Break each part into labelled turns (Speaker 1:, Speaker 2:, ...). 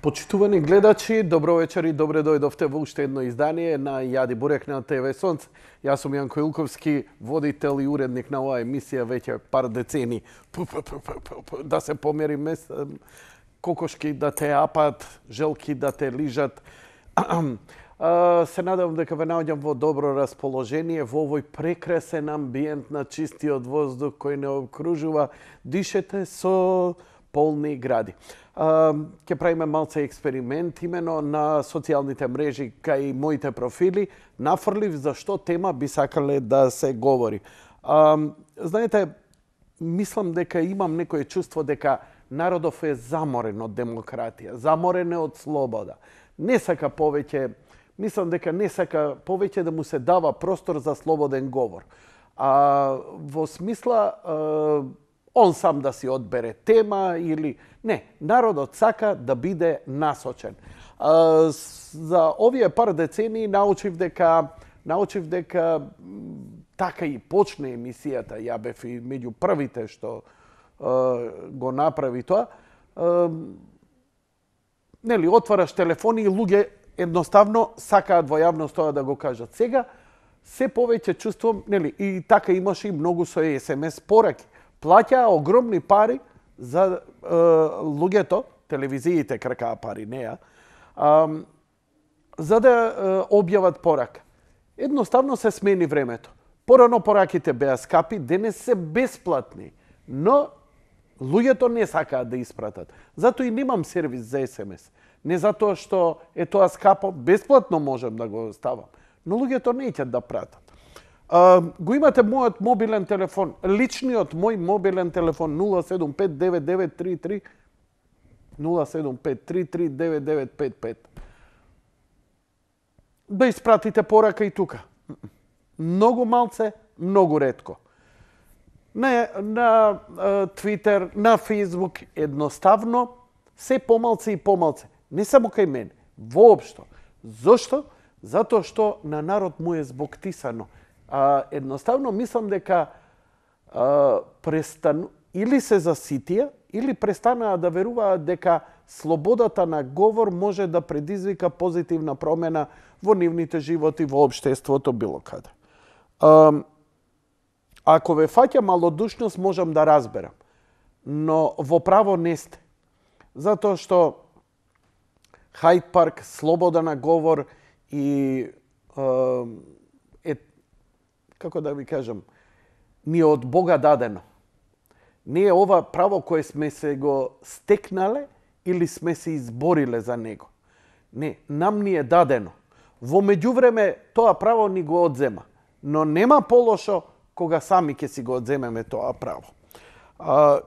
Speaker 1: Почитувани гледачи, добро вечер и добре дојдовте во уште едно издание на Јади Бурек на ТВ Сонце. Јас сум Јанко Илковски, водител и уредник на оваа емисија веќе пар децени. Да се помери кокошки да те апат, желки да те лижат. Се надевам дека ве наоѓам во добро расположение во овој прекрасен амбиент на чистиот воздух кој не окружува. Дишете со полни гради. Ќе правиме малце експеримент имено на социјалните мрежи кај моите профили. Нафрлив за што тема би сакале да се говори. Знаете, мислам дека имам некое чувство дека народов е заморен од демократија, заморен е од слобода. Не сака повеќе, мислам дека не сака повеќе да му се дава простор за слободен говор. Во смисла он сам да си одбере тема или не, народот сака да биде насочен. За овие пар децени научив дека така и почне емисијата. Ја бев и меѓу првите што го направи тоа. Нели, отвараш телефони и луѓе едноставно сакаат во јавност тоа да го кажат. Сега се повеќе чувствувам, нели, и така имаше и многу со SMS пораки. Плаќаа огромни пари за луѓето, телевизиите кркаа пари, не ја, за да објават порака. Едноставно се смени времето. Порано пораките беа скапи, денес се бесплатни, но луѓето не сакаат да испратат. Затоа и немам сервис за SMS. Не затоа што е тоа скапо, бесплатно можам да го ставам, но луѓето неќат да пратат. Го имате мојот мобилен телефон, личниот мој мобилен телефон 0759933 075339955. Да испратите порака и тука. Многу малце, многу ретко. На Twitter, на Facebook, едноставно, се помалце и помалце. Не само кај мене, воопшто. Зошто? Затоа што на народ му е збоктисано. Едноставно мислам дека или се заситија, или престанаа да веруваат дека слободата на говор може да предизвика позитивна промена во нивните животи, во општеството, било каде. Ако ве фаќа малодушност, можам да разберам, но во право не сте. Затоа што Хајд парк, слобода на говор и како да ви кажам, ни е од Бога дадено. Не е ова право кое сме се го стекнале или сме се избориле за него. Не, нам ни е дадено. Во меѓувреме тоа право ни го одзема, но нема полошо кога сами ќе си го одземеме тоа право.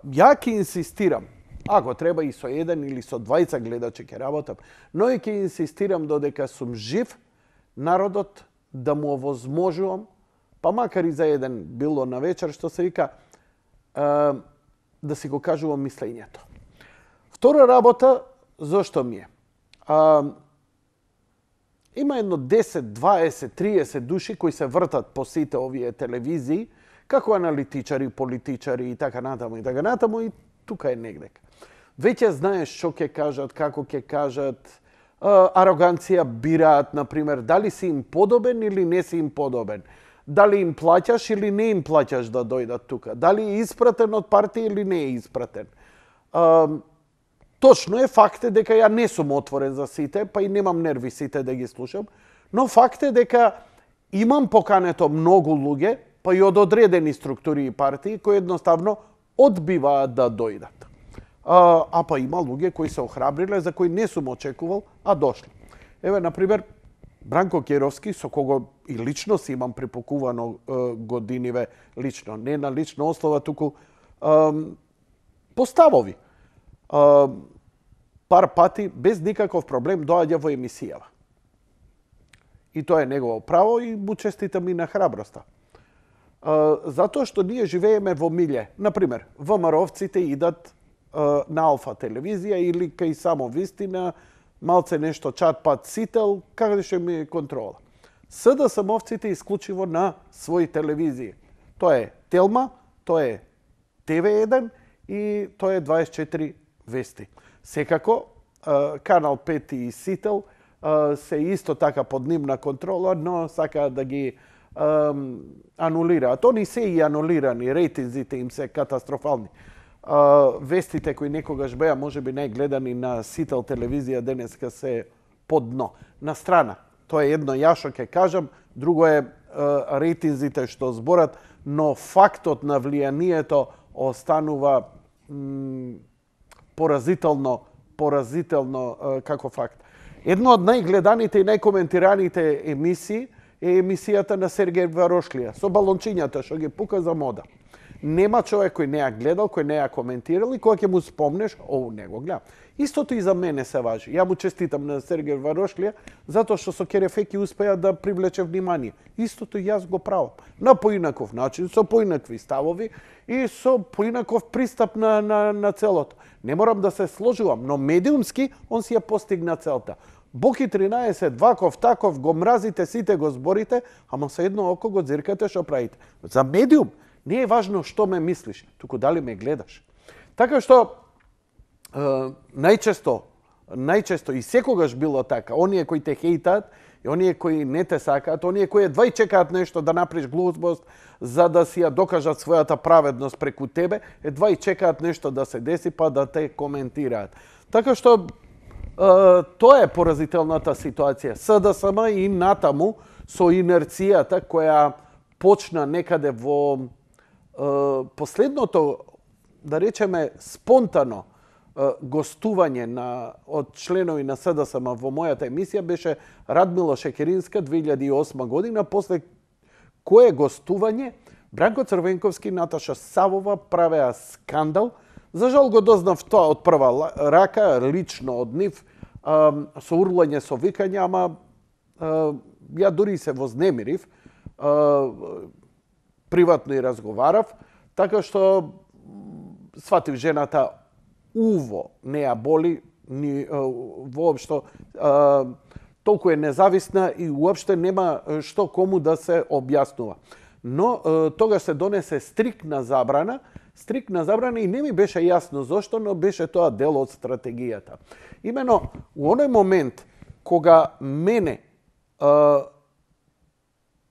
Speaker 1: Ја ќе инсистирам, ако треба и со еден или со двајца гледачи ќе работам, но и ќе инсистирам додека сум жив, народот да му овозможувам, па макар и за еден било на вечер, што се вика, да си го кажувам мислењето. Втора работа, зошто ми е? Има едно 10, 20, 30 души кои се вртат по сите овие телевизии, како аналитичари, политичари и така натаму и тука е негдека. Веќе знаеш што ќе кажат, како ќе кажат, ароганција бираат, например, дали си им подобен или не си им подобен. Дали им плаќаш или не им плаќаш да дојдат тука. Дали е испратен од партија или не е испратен. Точно е, факт е дека ја не сум отворен за сите, па и немам нерви сите да ги слушам, но факт е дека имам покането многу луѓе, па и од одредени структури и партии, кои едноставно одбиваат да дојдат. Па има луѓе кои се охрабриле, за кои не сум очекувал, а дошле. Еве, например, Бранко Керовски, со кого и лично си имам припокувано годиниве лично, не на лична основа, туку поставови. Пар пати, без никаков проблем, доаѓа во емисијава. И тоа е негово право и му честитам и на храброста. Затоа што ние живееме во милје. Например, ВМРО-вците идат на Алфа телевизија или кај Само Вистина, малце нешто чат-пат сител, каде што ми е контрола. СДСМ-овците исклучиво на своји телевизии. Тоа е Телма, тоа е ТВ1 и тоа е 24 Вести. Секако, Канал 5 и Сител се исто така под нивна контрола, но сакаат да ги анулираат. Они се и анулирани, рейтинзите им се катастрофални. Вестите кои некогаш беа можеби најгледани на Сител телевизија денеска се под дно. На страна, тоа е едно ја што ќе кажам, друго е рейтинзите што зборат, но фактот на влијанието останува поразително како факт. Едно од најгледаните и најкоментираните емисии е емисијата на Сергеј Варошлија со балончињата што ги пука за мода. Нема човек кој не ја гледал, кој не ја коментирал и кога ќе му спомнеш, не го гледам. Истото и за мене се важи. Ја му честитам на Сергеј Варошлија затоа што со Керефеки успеа да привлече внимание. Истото и јас го правам. На поинаков начин, со поинакви ставови и со поинаков пристап на целото. Не морам да се сложувам, но медиумски он си ја постигна целта. Боки 13, ваков, таков, го мразите, сите го зборите, ама со едно око го дзиркате што правите. За медиум не е важно што ме мислиш, туку дали ме гледаш. Така што најчесто и секогаш било така, оние кои те хейтаат, и оние кои не те сакаат, оние кои едва и чекаат нешто да направиш глупост за да си ја докажат својата праведност преку тебе, едва и чекаат нешто да се деси па да те коментираат. Така што тоа е поразителната ситуација. СДСМ и натаму со инерцијата која почна некаде во последното, да речеме, спонтано гостување од членови на СДСМ во мојата емисија беше Радмила Шекеринска 2008 година, после кое гостување Бранко Црвенковски и Наташа Савова правеа скандал. За жал го дознав тоа од прва рака, лично од нив, со урлање, со викање, ама ја дури се вознемирив, приватно и разговарав, така што сватив жената уво не ја боли, ни воопшто толку е независна и уопште нема што кому да се објаснува. Но тогаш се донесе стрикна забрана и не ми беше јасно зошто, но беше тоа дел од стратегијата. Имено, у оној момент кога мене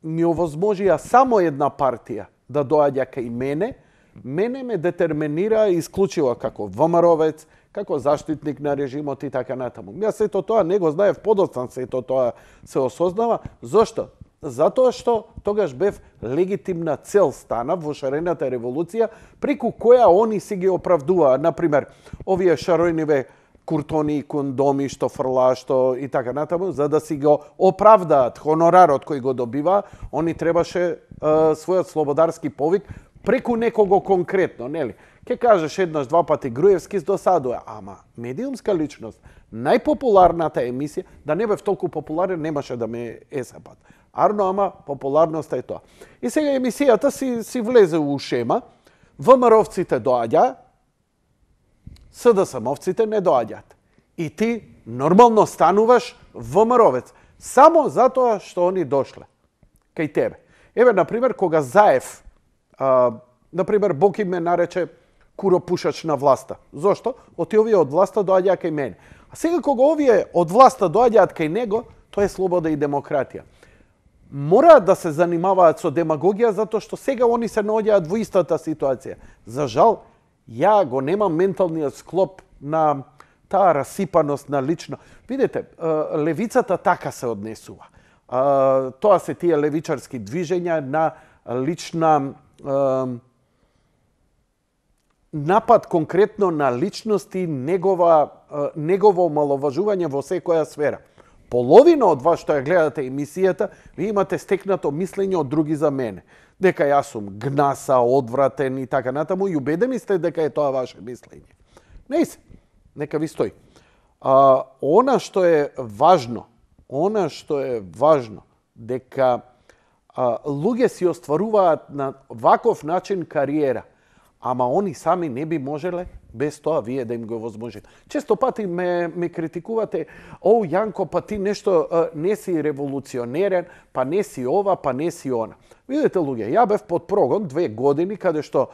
Speaker 1: ми овозможија само една партија да доаѓа кај мене ме детерминира исклучиво како ВМРО-вец, како заштитник на режимот и така натаму. Јас сето тоа не го знаев, подоцна сето тоа се осознава. Зошто? Затоа што тогаш бев легитимна цел стана во шарената револуција, преку која они си ги оправдуваа. Например, овие шаројниве куртони и кондоми што фрла, што и така натаму, за да си го оправдаат хонорарот кој го добива, они требаше својот слободарски повик преку некого конкретно, нели? Ке кажеш еднаш, два пати Груевски досадува, ама медиумска личност, најпопуларната емисија, да не бев толку популарен, немаше да ме есапат. Арно, ама популарноста е тоа. И сега емисијата си влезе у шема, ВМРО-вците доаѓа, СДСМ-овците не доаѓаат. И ти нормално стануваш ВМРО-вец, само затоа што они дошле кај тебе. Еве, например, кога Заев, например, Боки ме нарече куропушач на власта. Зошто? Оти овие од власта доаѓаа кај мене. А сега кога овие од власта доаѓаат кај него, тоа е слобода и демократија. Мораат да се занимаваат со демагогија, затоа што сега они се наоѓаат во истата ситуација. За жал, ја го немам менталниот склоп на таа расипаност на лично. Видете, левицата така се однесува. Тоа се тие левичарски движења на лична напад конкретно на личности, негово омаловажување во секоја сфера. Половина од вас што ја гледате емисијата, ви имате стекнато мислење од други за мене. Дека јас сум гнаса, одвратен и така натаму, и убедени сте дека е тоа ваше мислење. Не се, нека ви стои. Она што е важно, дека луѓе си остваруваат на ваков начин кариера, ама они сами не би можеле без тоа вие да им го возможите. Често пати ме критикувате, Јанко, па ти нешто не си револуционерен, па не си ова, па не си она. Видете, луѓе, ја бев под прогон 2 години, каде што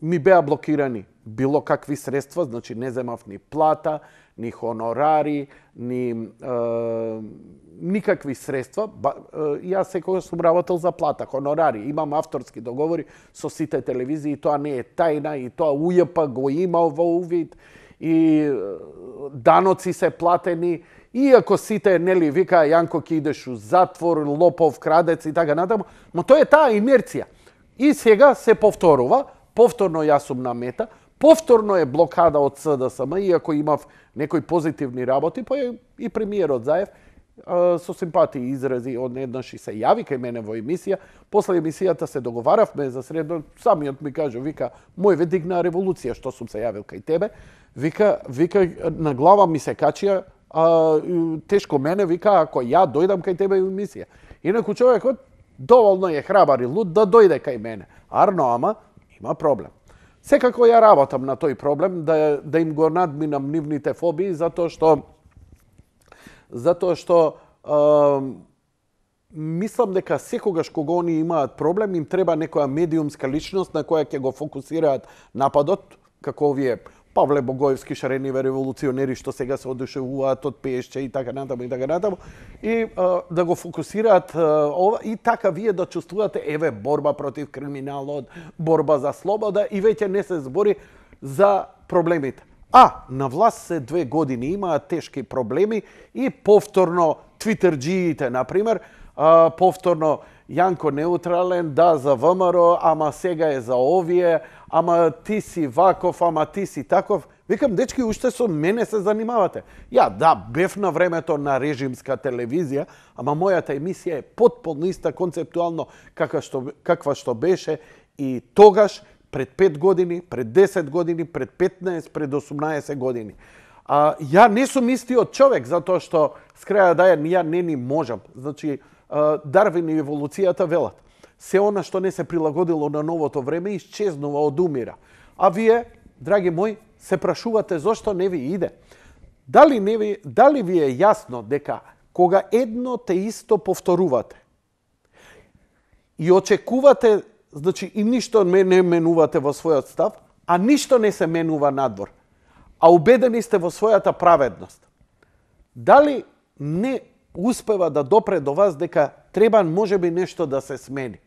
Speaker 1: ми беа блокирани било какви средства, значи не земав ни плата, ни хонорари, ни никакви средства. Јас секогаш сум работел за плата, хонорари, имам авторски договори со сите телевизии, тоа не е тајна и тоа УЈП го има во увид и даноци се платени. Иако сите, нели, вика Јанко ќе идеш у затвор, лопов, крадец и така натаму, но тоа е таа инерција. И сега се повторува, повторно јас сум на мета, повторно е блокада од СДСМ, иако имав некои позитивни работи, па и премиерот Заев со симпатии изрази однеднаш и се јави кај мене во емисија. После емисијата се договаравме за средно, самиот ми каже, вика, мој дигна револуција што сум се јавил кај тебе. Вика на глава ми се качија, тешко мене, вика, ако ја дојдам кај тебе во емисија. Инаку човекот доволно е храбар и луд да дојде кај мене. Арно, ама има проблем. Секако ја работам на тој проблем, да им го надминам нивните фобии, затоа што мислам дека секогаш кога они имаат проблем, им треба некоја медиумска личност на која ќе го фокусираат нападот, како овие Павле Богоевски шарениве револуционери што сега се одушевуваат од Пешче и така натаму, и да го фокусираат ова и така вие да чувствувате еве борба против криминалот, борба за слобода и веќе не се збори за проблемите. На власт се 2 години имаат тешки проблеми и повторно твитерџиите, например, повторно Јанко неутрален, да, за ВМРО, ама сега е за овие, ама ти си ваков, ама ти си таков. Викам, дечки, уште со мене се занимавате. Бев на времето на режимска телевизија, ама мојата емисија е потполно иста концептуално каква што беше и тогаш, пред 5 години, пред 10 години, пред 15, пред 18 години. Ја не сум истиот човек, затоа што с краја ја не ни можам. Значи, Дарвин и еволуцијата велат. Се она што не се прилагодило на новото време исчезнува, одумира. А вие, драги мои, се прашувате зошто не ви иде. Дали ви е јасно дека кога едно те исто повторувате и очекувате, значи и ништо не менувате во својот став, а ништо не се менува надвор, а убедени сте во својата праведност, дали не успева да допре до вас дека треба можеби нешто да се смени?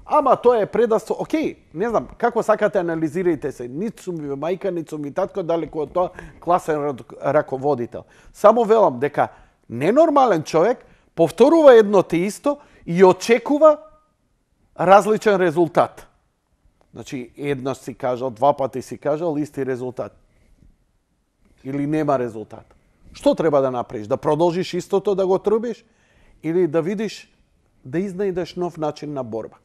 Speaker 1: Ама тоа е предавство. Океј, не знам, како сакате анализирајте се. Нит сум ви мајка, нит сум ви татко, далеко од тоа класен раководител. Само велам дека ненормален човек повторува едно те исто и очекува различен резултат. Значи, еднаш си кажал, 2 пати си кажал, исти резултат. Или нема резултат. Што треба да направиш? Да продолжиш истото да го трубиш? Или да видиш, да изнајдеш нов начин на борба?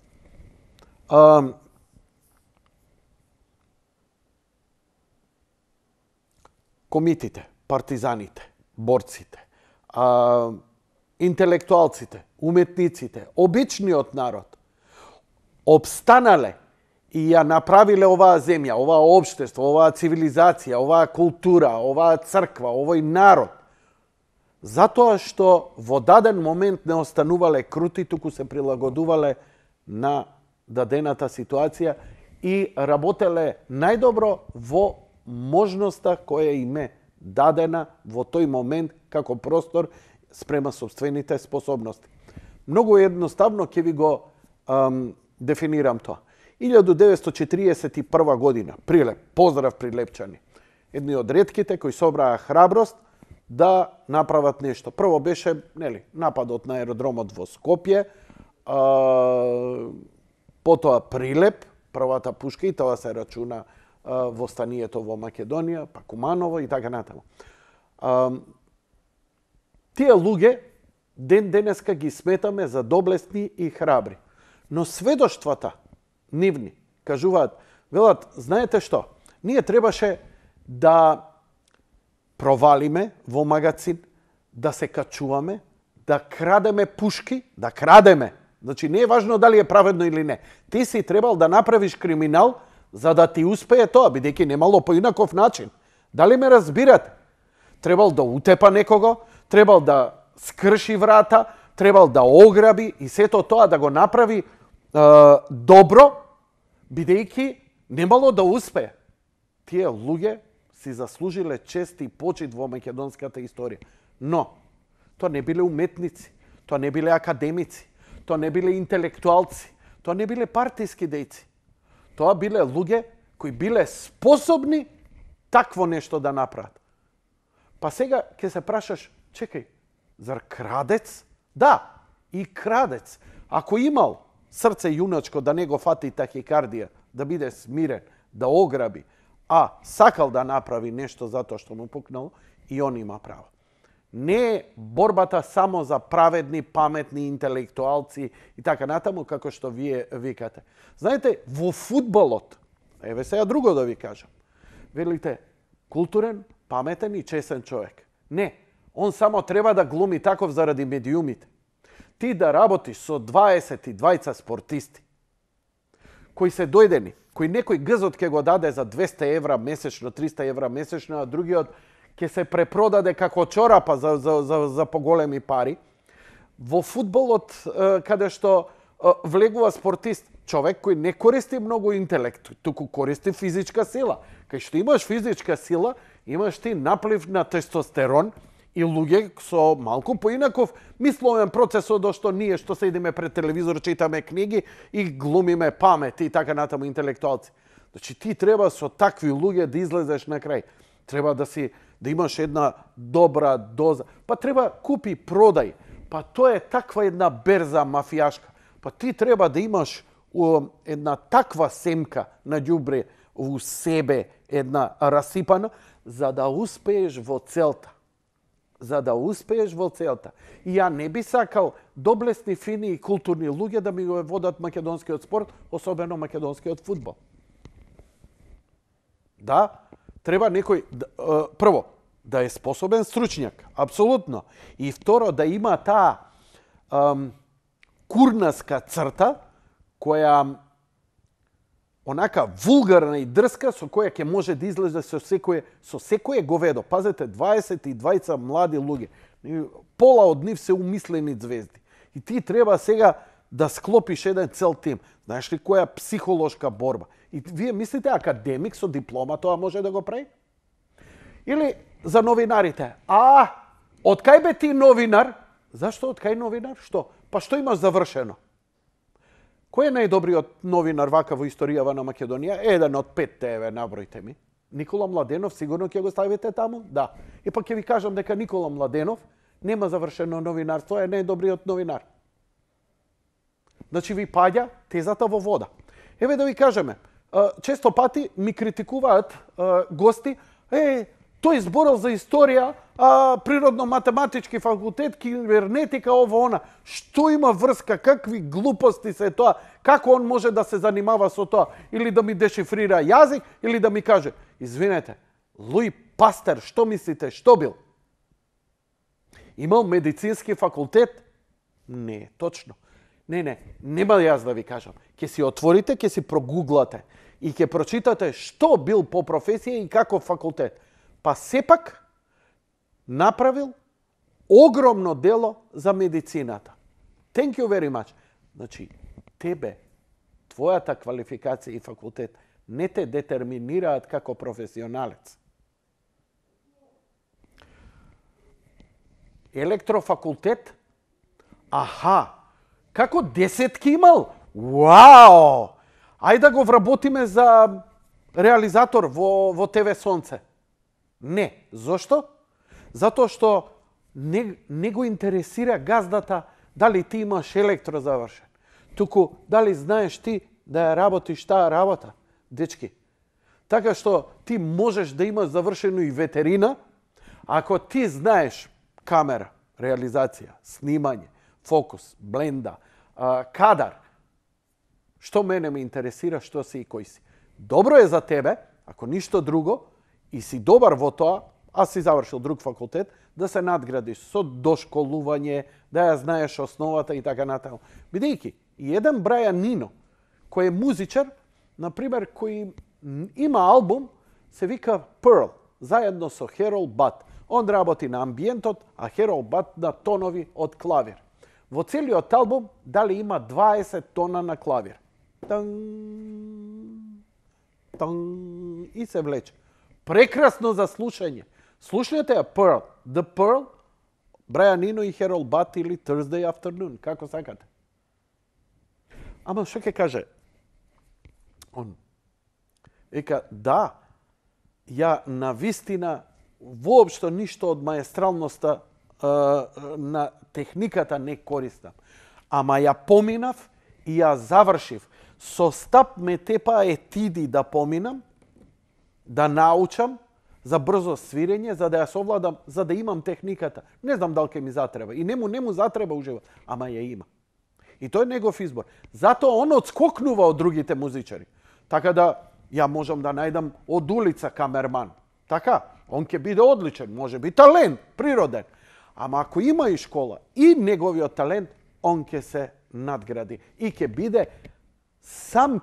Speaker 1: Комитите, партизаните, борците, интелектуалците, уметниците, обичниот народ, обстанале и ја направиле оваа земја, оваа општество, оваа цивилизација, оваа култура, оваа црква, овој народ, затоа што во даден момент не останувале крути, туку се прилагодувале на дадената ситуација и работеле најдобро во можноста која им е дадена во тој момент како простор спрема собствените способности. Многу едноставно ќе ви го дефинирам тоа. 1941 година, Прилеп, поздрав прилепчани. Едни од ретките кои собраа храброст да направат нешто. Прво беше, нападот на аеродромот во Скопје, потоа Прилеп, првата пушка, и тоа се рачуна во станието во Македонија, па Куманово и така натаму. Тие луѓе денеска ги сметаме за доблесни и храбри. Но сведоштвата нивни кажуваат, велат, знаете што, ние требаше да провалиме во магацин, да се качуваме, да крадеме пушки, да крадеме. Значи, не е важно дали е праведно или не. Ти си требал да направиш криминал за да ти успее тоа, бидејќи немало поинаков начин. Дали ме разбирате? Требал да утепа некого, требал да скрши врата, требал да ограби и сето тоа да го направи добро, бидејќи немало да успее. Тие луѓе си заслужиле чест и почит во македонската историја. Но, тоа не биле уметници, тоа не биле академици, тоа не биле интелектуалци, тоа не биле партиски дејци. Тоа биле луѓе кои биле способни такво нешто да направат. Па сега ќе се прашаш, чекај, зар крадец? Да, и крадец. Ако имал срце јуначко да не го фати тахикардија, да биде смирен, да ограби, а сакал да направи нешто затоа што му пукнало, и он има право. Не е борбата само за праведни, паметни интелектуалци и така натаму, како што вие викате. Знаете, во фудбалот, еве сега друго да ви кажам, велите културен, паметен и чесен човек. Не, он само треба да глуми таков заради медиумите. Ти да работиш со 22 спортисти, кои се дојдени, кои некој гзот ќе го даде за 200 евра месечно, 300 евра месечно, а другиот ќе се препродаде како чорапа за поголеми пари. Во фудбалот, каде што влегува спортист, човек кој не користи многу интелект, туку користи физичка сила. Кај што имаш физичка сила, имаш ти наплив на тестостерон и луѓе со малку поинаков мисловен процес од што ние што седиме пред телевизор, читаме книги и глумиме памет и така натаму интелектуалци. Значи ти треба со такви луѓе да излезеш на крај. Треба да имаш една добра доза. Па треба купи, продај. Па тоа е таква една берза мафијашка. Па ти треба да имаш една таква семка на ѓубре у себе, една расипана, за да успееш во целта. За да успееш во целта. И ја не би сакал доблесни, фини и културни луѓе да ми го водат македонскиот спорт, особено македонскиот фудбал. Да, треба некој, прво, да е способен стручњак, апсолутно. И второ, да има таа курнаска црта, која онака вулгарна и дрска, со која ќе може да излезе со секое говедо. Пазете, 22 млади луѓе. Пола од нив се умислени звезди. И ти треба сега да склопиш еден цел тим. Знаеш ли која психолошка борба? И вие мислите академик со диплома тоа може да го прави? Или за новинарите. Од кај бе ти новинар? Зашто од кај новинар? Што? Па што имаш завршено? Кој е најдобриот новинар вака во историјава на Македонија? Еден од 5 еве, набројте ми. Никола Младенов, сигурно ќе го ставите таму? Да. И пак ќе ви кажам дека Никола Младенов нема завршено новинарство, е најдобриот новинар. Значи ви паѓа тезата во вода. Еве да ви кажеме, често пати ми критикуваат гости, тој зборал за историја, природно-математички факултет, кибернетика, ово она. Што има врска, какви глупости се тоа, како он може да се занимава со тоа, или да ми дешифрира јазик, или да ми каже, извинете, Луи Пастер, што мислите, што бил? Имал медицински факултет? Не, точно. Нема јас да ви кажам. Ќе си отворите, ќе си прогуглате и ќе прочитате што бил по професија и каков факултет. Па сепак направил огромно дело за медицината. Thank you very much. Значи, тебе, твојата квалификација и факултет не те детерминираат како професионалец. Електрофакултет? Како десетки имал? Вау! Ајде да го вработиме за реализатор во ТВ Сонце. Не. Зошто? Затоа што не го интересира газдата дали ти имаш електро завршен. Туку дали знаеш ти да ја работиш таа работа, дечки. Така што ти можеш да имаш завршено и ветерина, ако ти знаеш камера, реализација, снимање, фокус, бленда, кадар. Што мене ме интересира, што си и кој си. Добро е за тебе, ако ништо друго, и си добар во тоа, аз си завршил друг факултет, да се надградиш со дошколување, да ја знаеш основата и така натаму. Бидејќи, и еден Брајан Нино, кој е музичар, например, кој има албум, се вика Pearl, заедно со Херол Бат. Он работи на амбиентот, а Херол Бат на тонови од клавир. Во целиот албум, дали има 20 тона на клавир. И се влече. Прекрасно за слушање. Слушнете ја Pearl. The Pearl, Брайан Ино и Херол Бат или Thursday Afternoon, како сакате. Ама што ќе каже? Он. Ека, да, ја навистина воопшто ништо од маестралноста на техниката не користам. Ама ја поминав и ја завршив. Со стап ме тепа етиди да поминам, да научам за брзо свирење, за да ја совладам, за да имам техниката. Не знам дали ќе ми затреба. И не му затреба уживот, ама ја има. И тој е негов избор. Затоа он одскокнува од другите музичари. Така да ја можам да најдам од улица камерман. Така, он ќе биде одличен, може би талент, природен. Ама ако има и школа и неговиот талент, он ќе се надгради и ќе биде сам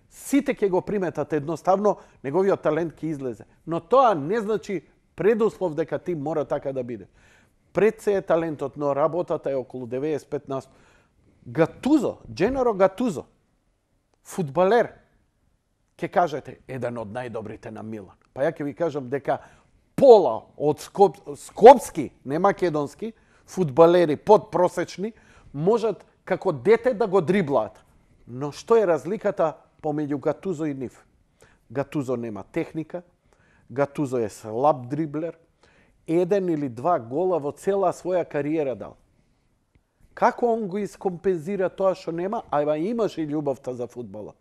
Speaker 1: сите ќе го приметат едноставно, неговиот талент ќе излезе. Но тоа не значи предуслов дека ти мора така да биде. Пред се е талентот, но работата е околу 95%. Гатузо, Дженаро Гатузо, фудбалер, ќе кажете, еден од најдобрите на Милан. Па ја ќе ви кажам дека пола од скопски, не македонски, фудбалери подпросечни, можат како дете да го дриблаат. Но што е разликата помеѓу Гатузо и нив? Гатузо нема техника, Гатузо е слаб дриблер, еден или два гола во цела своја кариера дал. Како он го искомпензира тоа што нема, а имаше и љубовта за фудбалот?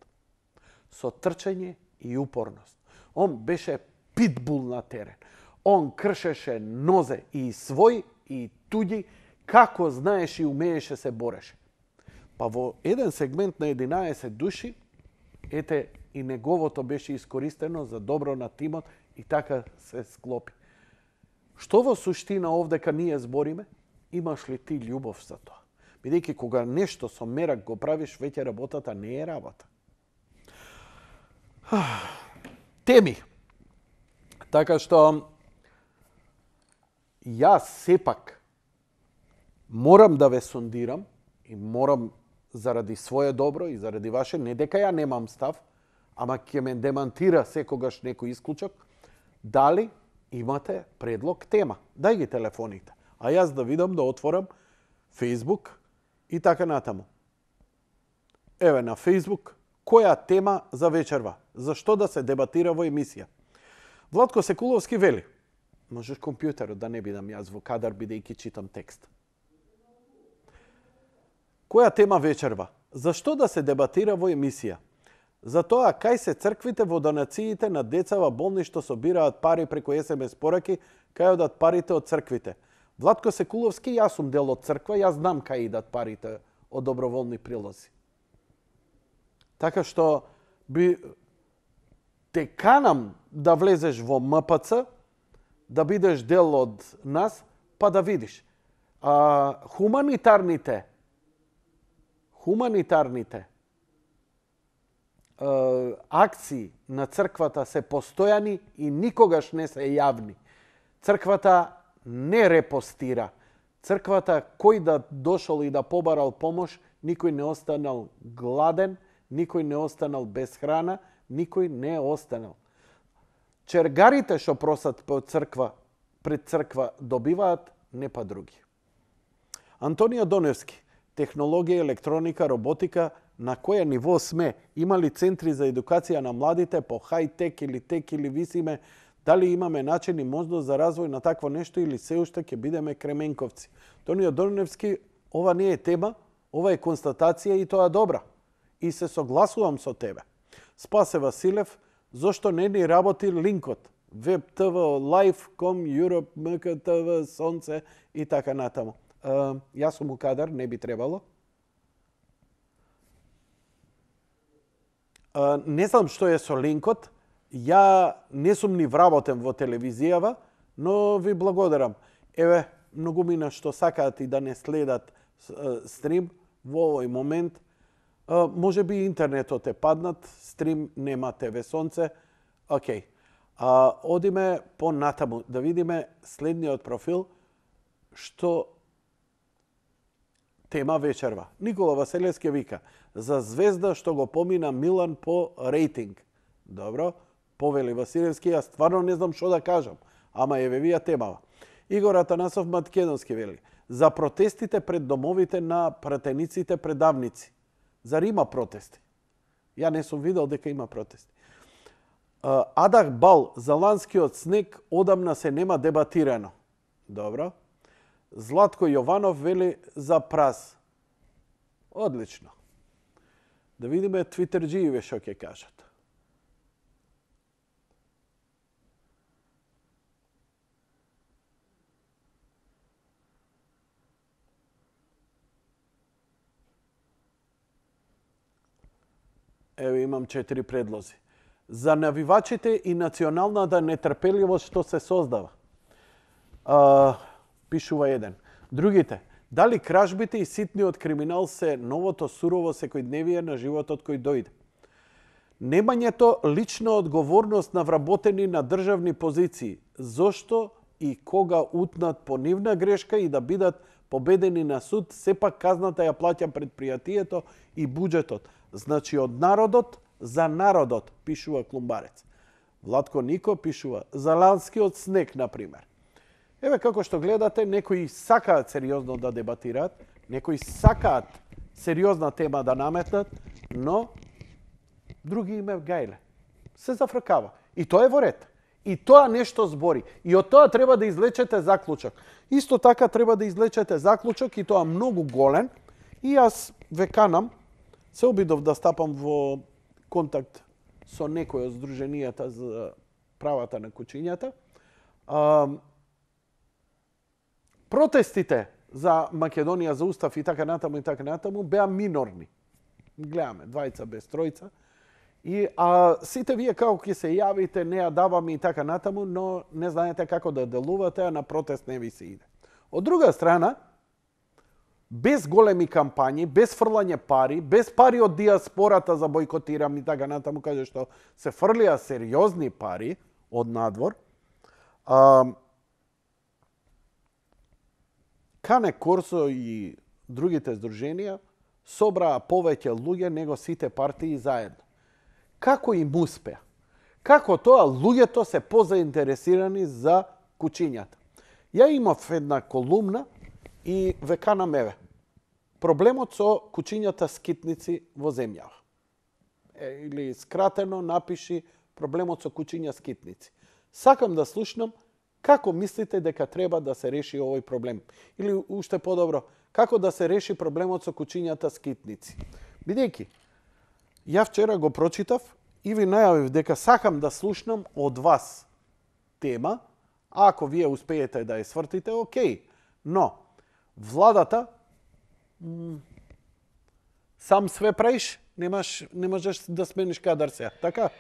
Speaker 1: Со трчање и упорност. Он беше питбул на терен. Он кршеше нозе и свој и туѓи, како знаеш и умееше се бореше. Па во еден сегмент на 11 души, ете и неговото беше искористено за добро на тимот и така се склопи. Што во суштина овдека ние збориме? Имаш ли ти љубов за тоа? Бидејќи кога нешто со мерак го правиш, веќе работата не е работа. Теми. Така што јас сепак морам да ве сондирам и морам заради своје добро и заради ваше, не дека ја немам став, ама ќе ме демантира секогаш некој исклучок, дали имате предлог тема. Дај ги телефоните. А јас да видам, да отворам Facebook и така натаму. Еве на Facebook, која тема за вечерва? Зашто да се дебатира во емисија? Владко Секуловски вели, можеш компјутерот да не бидам јас во кадар, бидејќи читам текст. Која тема вечерва? Зашто да се дебатира во емисија? За тоа кај се црквите во донациите на деца во болни што собираат пари преку SMS пораки, кај одат парите од црквите. Владко Секуловски, јас сум дел од црква, јас знам кај идат парите од доброволни прилози. Така што те канам да влезеш во МПЦ, да бидеш дел од нас, па да видиш. Хуманитарните акции на црквата се постојани и никогаш не се јавни. Црквата не репостира. Црквата, кој да дошол и да побарал помош, никој не останал гладен, никој не останал без храна, никој не останал. Чергарите што просат пред црква добиваат, не па други. Антонио Доневски, технологија, електроника, роботика, на која ниво сме? Има ли центри за едукација на младите по хай-тек или висиме? Дали имаме начин и можност за развој на такво нешто или се уште ќе бидеме кременковци? Антонио Доневски, ова не е тема, ова е констатација и тоа добра. И се согласувам со тебе. Спасе Василев, зошто не ни работи линкот? Web TV, Live.com, Europe, MKTV, Сонце и така натаму. Јас сум у кадар, не би требало. Не знам што е со линкот. Ја не сум ни вработен во телевизијава, но ви благодарам. Еве, многумина што сакаат и да не следат стрим во овој момент. Може би интернетот е паднат, стрим нема ТВ Сонце. Океј. Одиме по натаму да видиме следниот профил што тема вечерва. Никола Василевски вика за звезда што го помина Милан по рейтинг. Добро, повели Василевски, јас стварно не знам што да кажам, ама еве вија темава. Игор Атанасов Македонски вели, за протестите пред домовите на пратениците предавници. Зар има протести? Ја не сум видел дека има протести. Адах Бал, за ланскиот снег одамна се нема дебатирано. Добро. Златко Јованов вели за праз. Одлично. Да видиме твитерџијиве што ќе кажат. Еве имам 4 предлози. За навивачите и националната нетрпеливост што се создава. Пишува еден. Другите. Дали кражбите и ситниот криминал се новото сурово секојдневие на животот кој дојде? Немањето лична одговорност на вработени на државни позиции. Зошто и кога утнат по нивна грешка и да бидат победени на суд, сепак казната ја плаќа предпријатието и буџетот. Значи од народот за народот, пишува Клумбарец. Владко Нико пишува за ланскиот снег, например. Еве како што гледате, некои сакаат сериозно да дебатираат, некои сакаат сериозна тема да наметнат, но други име гајле. Се зафркава. И тоа е во ред. И тоа нешто збори. И од тоа треба да извлечете заклучок. Исто така треба да извлечете заклучок и тоа многу голем. И јас ве канам, се обидов да стапам во контакт со некој од здруженијата за правата на кучињата. Протестите за Македонија, за устав и така натаму беа минорни. Гледаме, двајца без тројца. И сите вие како ќе се јавите, не ја даваме и така натаму, но не знаете како да делувате, а на протест не ви се иде. Од друга страна, без големи кампањи, без фрлање пари, без пари од диаспората за бойкотирам и така натаму, каде што се фрлија сериозни пари од надвор, Кане Корсо и другите здруженија собраа повеќе луѓе него сите партии заедно. Како им успеа? Како тоа луѓето се позаинтересирани за кучињата? Ја имав една колумна и ве канам еве. Проблемот со кучињата скитници во земјава. Или скратено напиши проблемот со кучиња скитници. Сакам да слушнам како мислите дека треба да се реши овој проблем? Или уште подобро, како да се реши проблемот со кучињата скитници? Бидејќи, ја вчера го прочитав и ви најавив дека сакам да слушнам од вас тема, а ако вие успеете да ја свртите, окей. Но, владата, сам све правиш, не можеш да смениш кадар сега, така?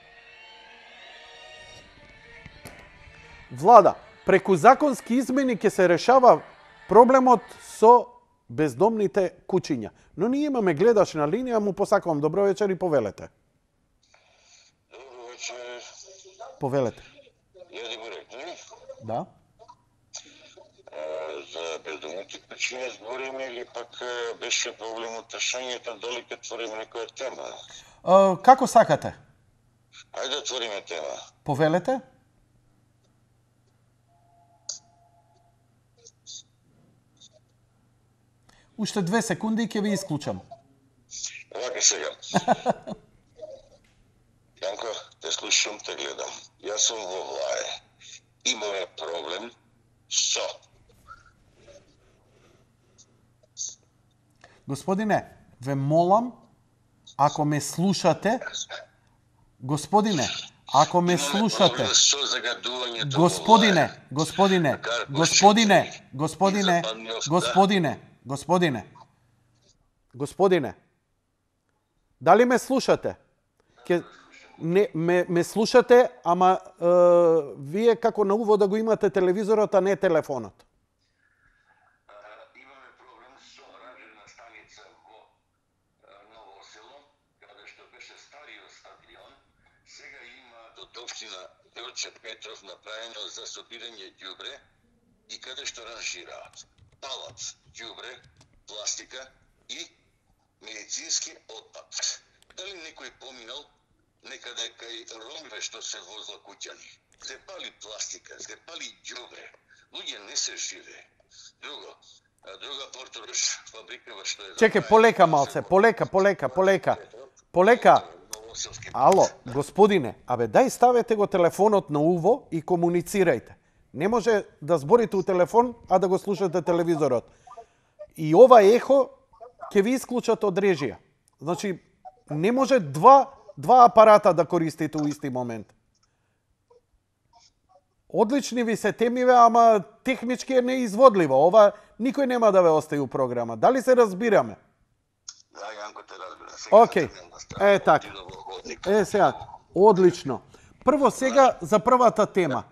Speaker 1: Влада, преку законски измени ќе се решава проблемот со бездомните кучиња. Но ние имаме гледач на линија, му посакувам добро вечер и повелете.
Speaker 2: Добро вечер.
Speaker 1: Повелете.
Speaker 2: Јади Бурек, не?
Speaker 1: Да.
Speaker 2: За бездомните кучиња збориме или пак беше проблемот ташањето, дали ќе отвориме некоја тема?
Speaker 1: Како сакате?
Speaker 2: Ајде да отвориме тема.
Speaker 1: Повелете. Уште 2 секунди и ќе ви исклучам.
Speaker 2: Вака сега. Јанко, те слушам, те гледам. Јас сум во влае. Имаме проблем со...
Speaker 1: Господине, ве молам, ако ме слушате, господине, ако ме слушате, господине, дали ме слушате? Ме слушате, ама вие како на увод да го имате телевизорот, а не телефонот.
Speaker 2: Имаме проблем со радиона станица во Ново село, каде што беше стариот стадион. Сега има од општина Делче Петров направено за собирање ѓубре и каде што ранжираат палат ѓубре, пластика и медицински отпад. Дали некој поминал некаде кај ромове што се во Злокуќани. Се пали пластика, се пали ѓубре. Луѓе не се живе. Друга Портурош фабрикава што е...
Speaker 1: Чекај, полека малце, полека. Ало, господине, дај ставете го телефонот на уво и комуницирајте. Не може да зборите у телефон, а да го слушате телевизорот. И ова ехо ќе ви исклучат од режија. Значи, не може два апарата да користите у исти момент. Одлични ви се темиве, ама технички е неизводливо. Ова никој нема да ве остави у програма. Дали се разбираме?
Speaker 2: Да, Јанко те разбира.
Speaker 1: Океј, така. Сега, одлично. Прво сега за првата тема.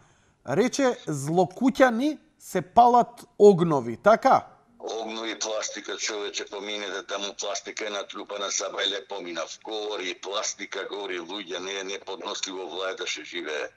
Speaker 1: Рече, Злокуќани се палат огнови, така?
Speaker 2: Огнови, пластика, човече, поминете таму, пластика е натрупана, Сабајле поминав. Гори, пластика, гори, луѓе, не е неподносливо влаје да ше живее.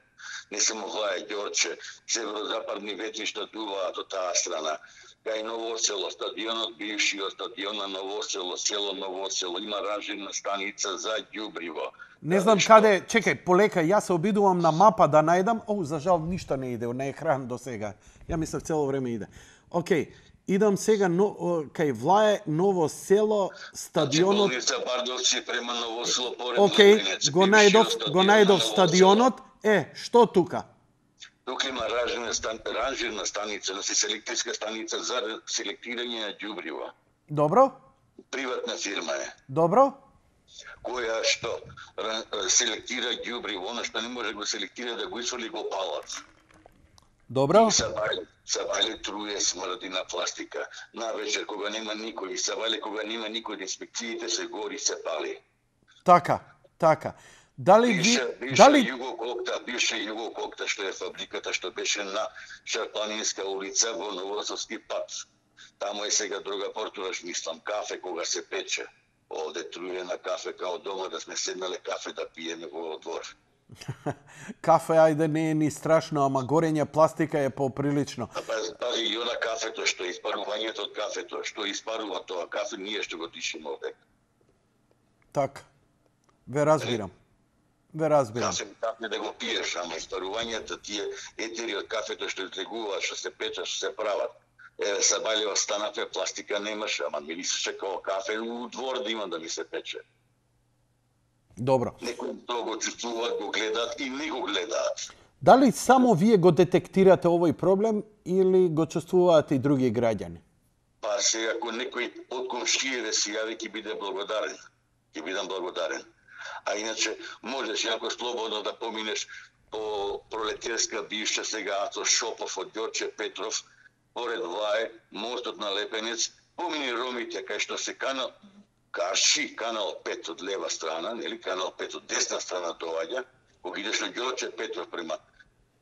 Speaker 2: Не само влаје, Ѓорче, северозападни ветришта дуваат од таа страна. Кај Новосело, стадионот, бившиот стадион на Новосело, село Новосело, има ранжирна станица за ѓубриво.
Speaker 1: Не знам каде, чекај, полека, јас се обидувам на мапа да најдам. За жал ништо не иде на екран до сега. Ја мислев цело време иде. Океј, идам сега кај Влаје, Новосело, стадионот.
Speaker 2: Болница Бардовци према Новосело поред.
Speaker 1: Океј, го најдов стадионот. Што тука?
Speaker 2: Тука има ранжирна станица, селекторска станица за селектирање на ѓубриво.
Speaker 1: Добро.
Speaker 2: Приватна фирма е.
Speaker 1: Добро.
Speaker 2: Која што селектира ѓубриво, она што не може го селектира да го исоли го палат.
Speaker 1: Добро.
Speaker 2: Сабајле труе, смрди на пластика. Навечер кога нема никој, Сабајле кога нема никој, инспекциите се гори, се пали.
Speaker 1: Така. Дали
Speaker 2: бивша Југококта, што е фабриката што беше на Шарпланинска улица во Новосовски пат. Таму е сега друга Портурош, мислам, кафе кога се пече. Овде труе на кафе као дома да сме седнале кафе да пиеме во двор.
Speaker 1: Кафе, ајде, не е ни страшно, ама горење пластика е поприлично.
Speaker 2: Пази, и она кафето, што испарувањето од кафето, што испарува тоа кафе, ние што го дишиме овде.
Speaker 1: Така. Ве разбирам.
Speaker 2: Кафе да го пиеш, ама испарувањето, тие етери од кафето што излегуваат, што се печат, што се прават. Сабајле останаве, пластика немаше, ама мирисеше као кафе у двор да има да ми се пече.
Speaker 1: Добро.
Speaker 2: Некои тоа го чувствуваат, го гледаат и не го гледаат.
Speaker 1: Дали само вие го детектирате овој проблем или го чувствуваат и други граѓани?
Speaker 2: Па сега, ако некој од комшиеве се јави, ќе бидам благодарен. А иначе, можеш јако слободно да поминеш по Пролетерска бивша сега Ацо Шопов од Ѓорче Петров, поред Влаје, мостот на Лепенец, помини ромите кај што се Карши, канал 5 од лева страна, нели, канал 5 од десна страна доаѓа, кога идеш од Ѓорче Петров према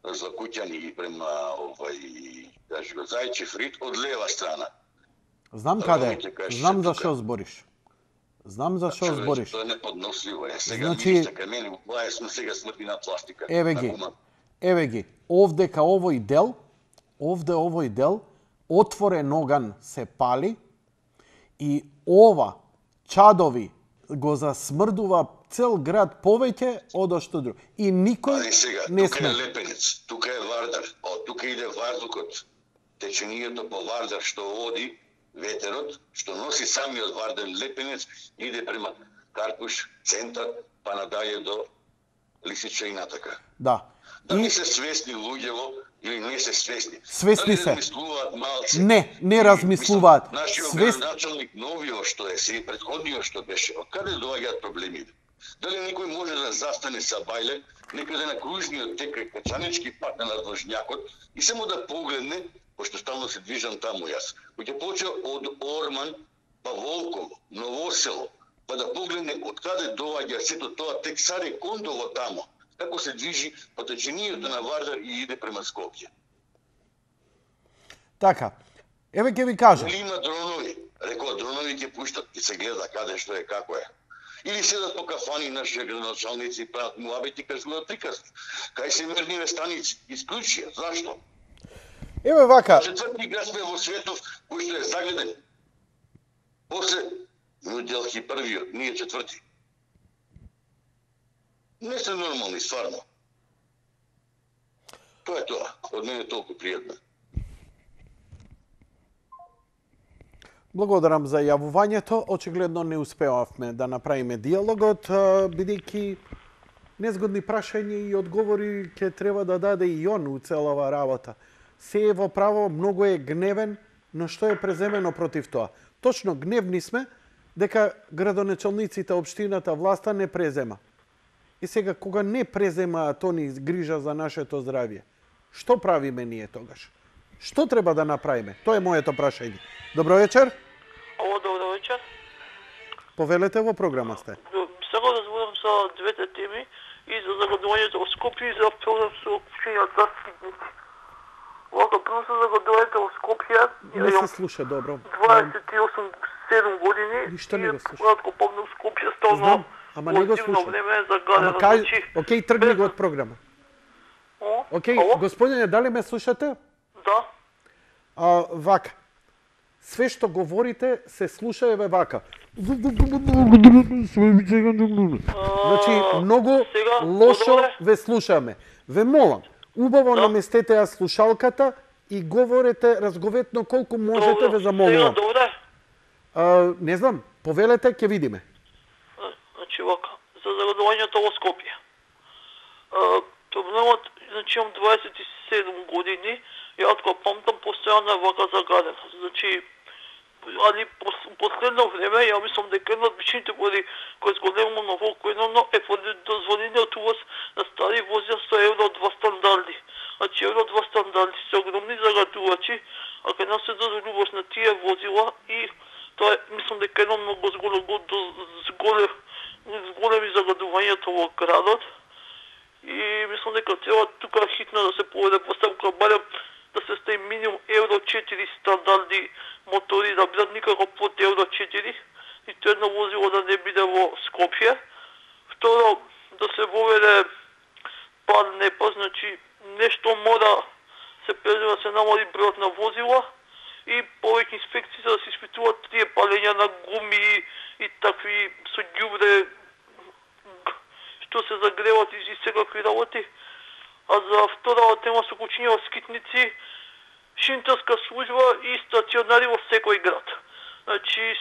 Speaker 2: Злокуќани и према кажи го Зајчев Рид од лева страна.
Speaker 1: Знам каде, знам за што збориш.
Speaker 2: Тоа е неподносливо. Сега мирише кај мене, Влаје сме сега смрти на пластика.
Speaker 1: Еве ги, овде овој дел, отворен оган се пали и ова чадови го засмрдува цел град повеќе од што друго. И никој не сме.
Speaker 2: Тука е Лепенец, тука е Вардар, тука иде ваздухот, теченијето по Вардар што оди, ветерот, што носи самиот Вардар Лепенец, иде према Карпуш, центар, па надале до Лисича и натака.
Speaker 1: Да.
Speaker 2: Дали се свесни луѓево или не се свесни?
Speaker 1: Свесни се.
Speaker 2: Размислуваат малце?
Speaker 1: Не размислуваат.
Speaker 2: Нашиот градоначалник новиот што е, и предходниот што беше, од каде доаѓаат проблемите? Дали некој може да застане Сабајле некаде на кружниот тек кај Качанички пат на Надвожњакот и само да погледне, пошто стално се движам таму јас, кој ќе почне од Орман, па Волково, Новосело, па да погледне од каде доаѓа сето тоа тек Саре Кондово таму, како се движи по теченијето на Вардар и иде према Скопје.
Speaker 1: Така, еве ќе ви кажам.
Speaker 2: Или има дронови, рекоа дронови ќе пуштат и се гледа каде што е, како е. Или седат по кафани наши градоначалници и прават муабети, кажуваат приказни. Кај се мирниве станици, исклучија, зашто?
Speaker 1: Еве вака.
Speaker 2: Четврти град сме во светов, кој што е загледен. После Нью Делхи првиот, ние четврти. Не се нормални, стварно. Тоа е тоа. Од мене толку пријатно.
Speaker 1: Благодарам за јавувањето. Очигледно не успеавме да направиме диалогот, бидејќи незгодни прашања и одговори ќе треба да даде и он у целава работа. Се е во право, многу е гневен, но што е преземено против тоа? Точно гневни сме дека градоначалниците, општината, власта не презема. И сега, кога не преземаат они грижа за нашето здравје, што правиме ние тогаш? Што треба да направиме? Тоа е моето прашање. Добро вечер.
Speaker 3: Ало, добро вечер.
Speaker 1: Повелете, во програма сте.
Speaker 3: Сега да зборам за двете теми и за загадувањето во Скопје и за проблем со општината Скитници. Вака, прво се загадувањето во Скопје.
Speaker 1: Не се слуша добро.
Speaker 3: 28-7 години.
Speaker 1: Ништо не го слуша.
Speaker 3: Когато попадна в Скопје, стално
Speaker 1: Знам, ама не го слушам.
Speaker 3: време е загадено.
Speaker 1: Ама кај, окей, тргни го од програма. Окей,
Speaker 3: Ало?
Speaker 1: господине, дали ме слушате?
Speaker 3: Да.
Speaker 1: Вака. Све што говорите се слуша еве вака. Значи, многу
Speaker 3: сега,
Speaker 1: лошо
Speaker 3: одобре?
Speaker 1: ве слушаме. Ве молам, убаво наместете ја слушалката и говорете разговетно колку можете, ве
Speaker 3: Сега,
Speaker 1: замолувам.
Speaker 3: добре.
Speaker 1: Не знам, повелете, ќе видиме.
Speaker 3: Значи, вака, за загадувањето во Скопје. Проблемот, значи, имам 27 години, ја откога памтам, постојано е вака загадено. Значи, али последно време, ја мислам дека една од причините кои зголемува на Волковино е поради дозволениот увоз на стари возила со Евро 2 стандарди. Значи, Евро 2 стандарди се огромни загадувачи, а кај нас се дозволи увоз на тие возила и тоа е, мислам дека едно многу зголеми загадувањето во градот. И мислам дека треба тука хитно да се поведе постапка, барем да се стави минимум Евро 4 стандарди мотори, да бидат никако под Евро 4 и тоа едно возило да не биде во Скопје. Второ, да се воведе пар непа, значи нешто мора се презема да се намали бројот на возила и повеќе инспекции да се испитуваат тие палења на гуми и такви со ѓубре што се загреват и секакви работи. А за втората тема со кучиња во Скитници, шинтарска служба и стационари во секој град. Значи,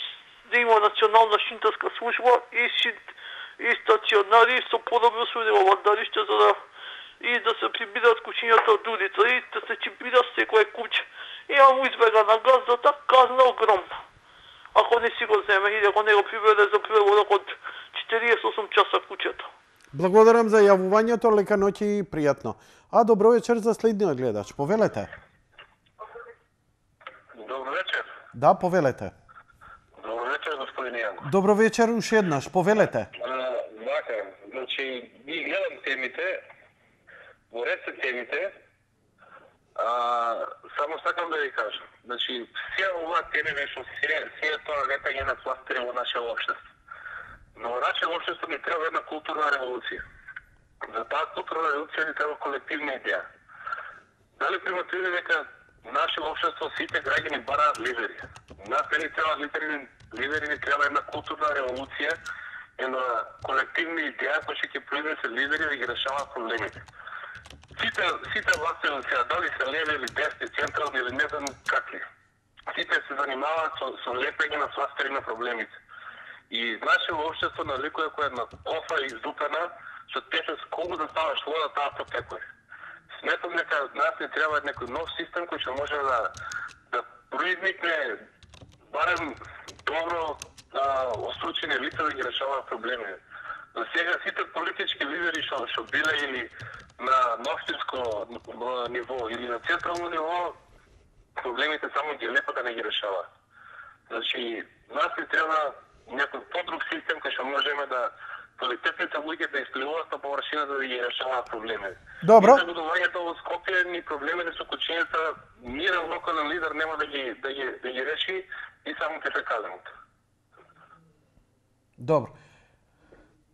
Speaker 3: да има национална шинтарска служба и стационари со подобро услови во владариште за да и да се прибираат кучињата од улица и да се чипира секој куќ. И му избега на газдата, казна огромна. Ако не си го земе или ако не го прибере за преводок од 48 часа куќето.
Speaker 1: Благодарам за јавувањето, лека ноќ и пријатно. Добро вечер за следниот гледач. Повелете.
Speaker 2: Добро вечер.
Speaker 1: Да, повелете.
Speaker 2: Добро вечер, господин Јанко.
Speaker 1: Добро вечер уште еднаш. Повелете.
Speaker 2: Вака, значи, ги гледам темите, во ред се темите, само сакам да ви кажам. Значи, сија оваа тема беше сија тоа лепање на пластери во наше општество. Но во наше општество ни треба една културна револуција. За таа културна револуција ни треба колективна идеја. Дали примативни дека наше општество сите граѓани бараат лидери. Нас не ни треба лидери, ни треба една културна револуција, една колективна идеја која ќе произнесе лидери да ги решаваат проблемите. Сите власти сега, дали се леви или десни, централни или не знам какви, сите се занимаваат со лепење на фластери на проблемите. И наше општество наликува која една кофа издупена, што тече колку да ставаш вода, таа потекува. Сметам дека нас не треба некој нов систем кој ќе може да произникне барем добро остручени лица да ги решаваат проблеми. За сега сите политички лидери што биле или на општинско ниво или на централно ниво, проблемите само ги лепа да не ги решаваат. Значи, нас ни треба некој подруг систем кој што можеме да квалитетните луѓе да испливуваат на површината да ги решаваат проблеми.
Speaker 1: Добро.
Speaker 2: И загадувањето во Скопје ни проблемите со кучињата, мирен локален лидер нема да ги реши и само ќе се казаното.
Speaker 1: Добро.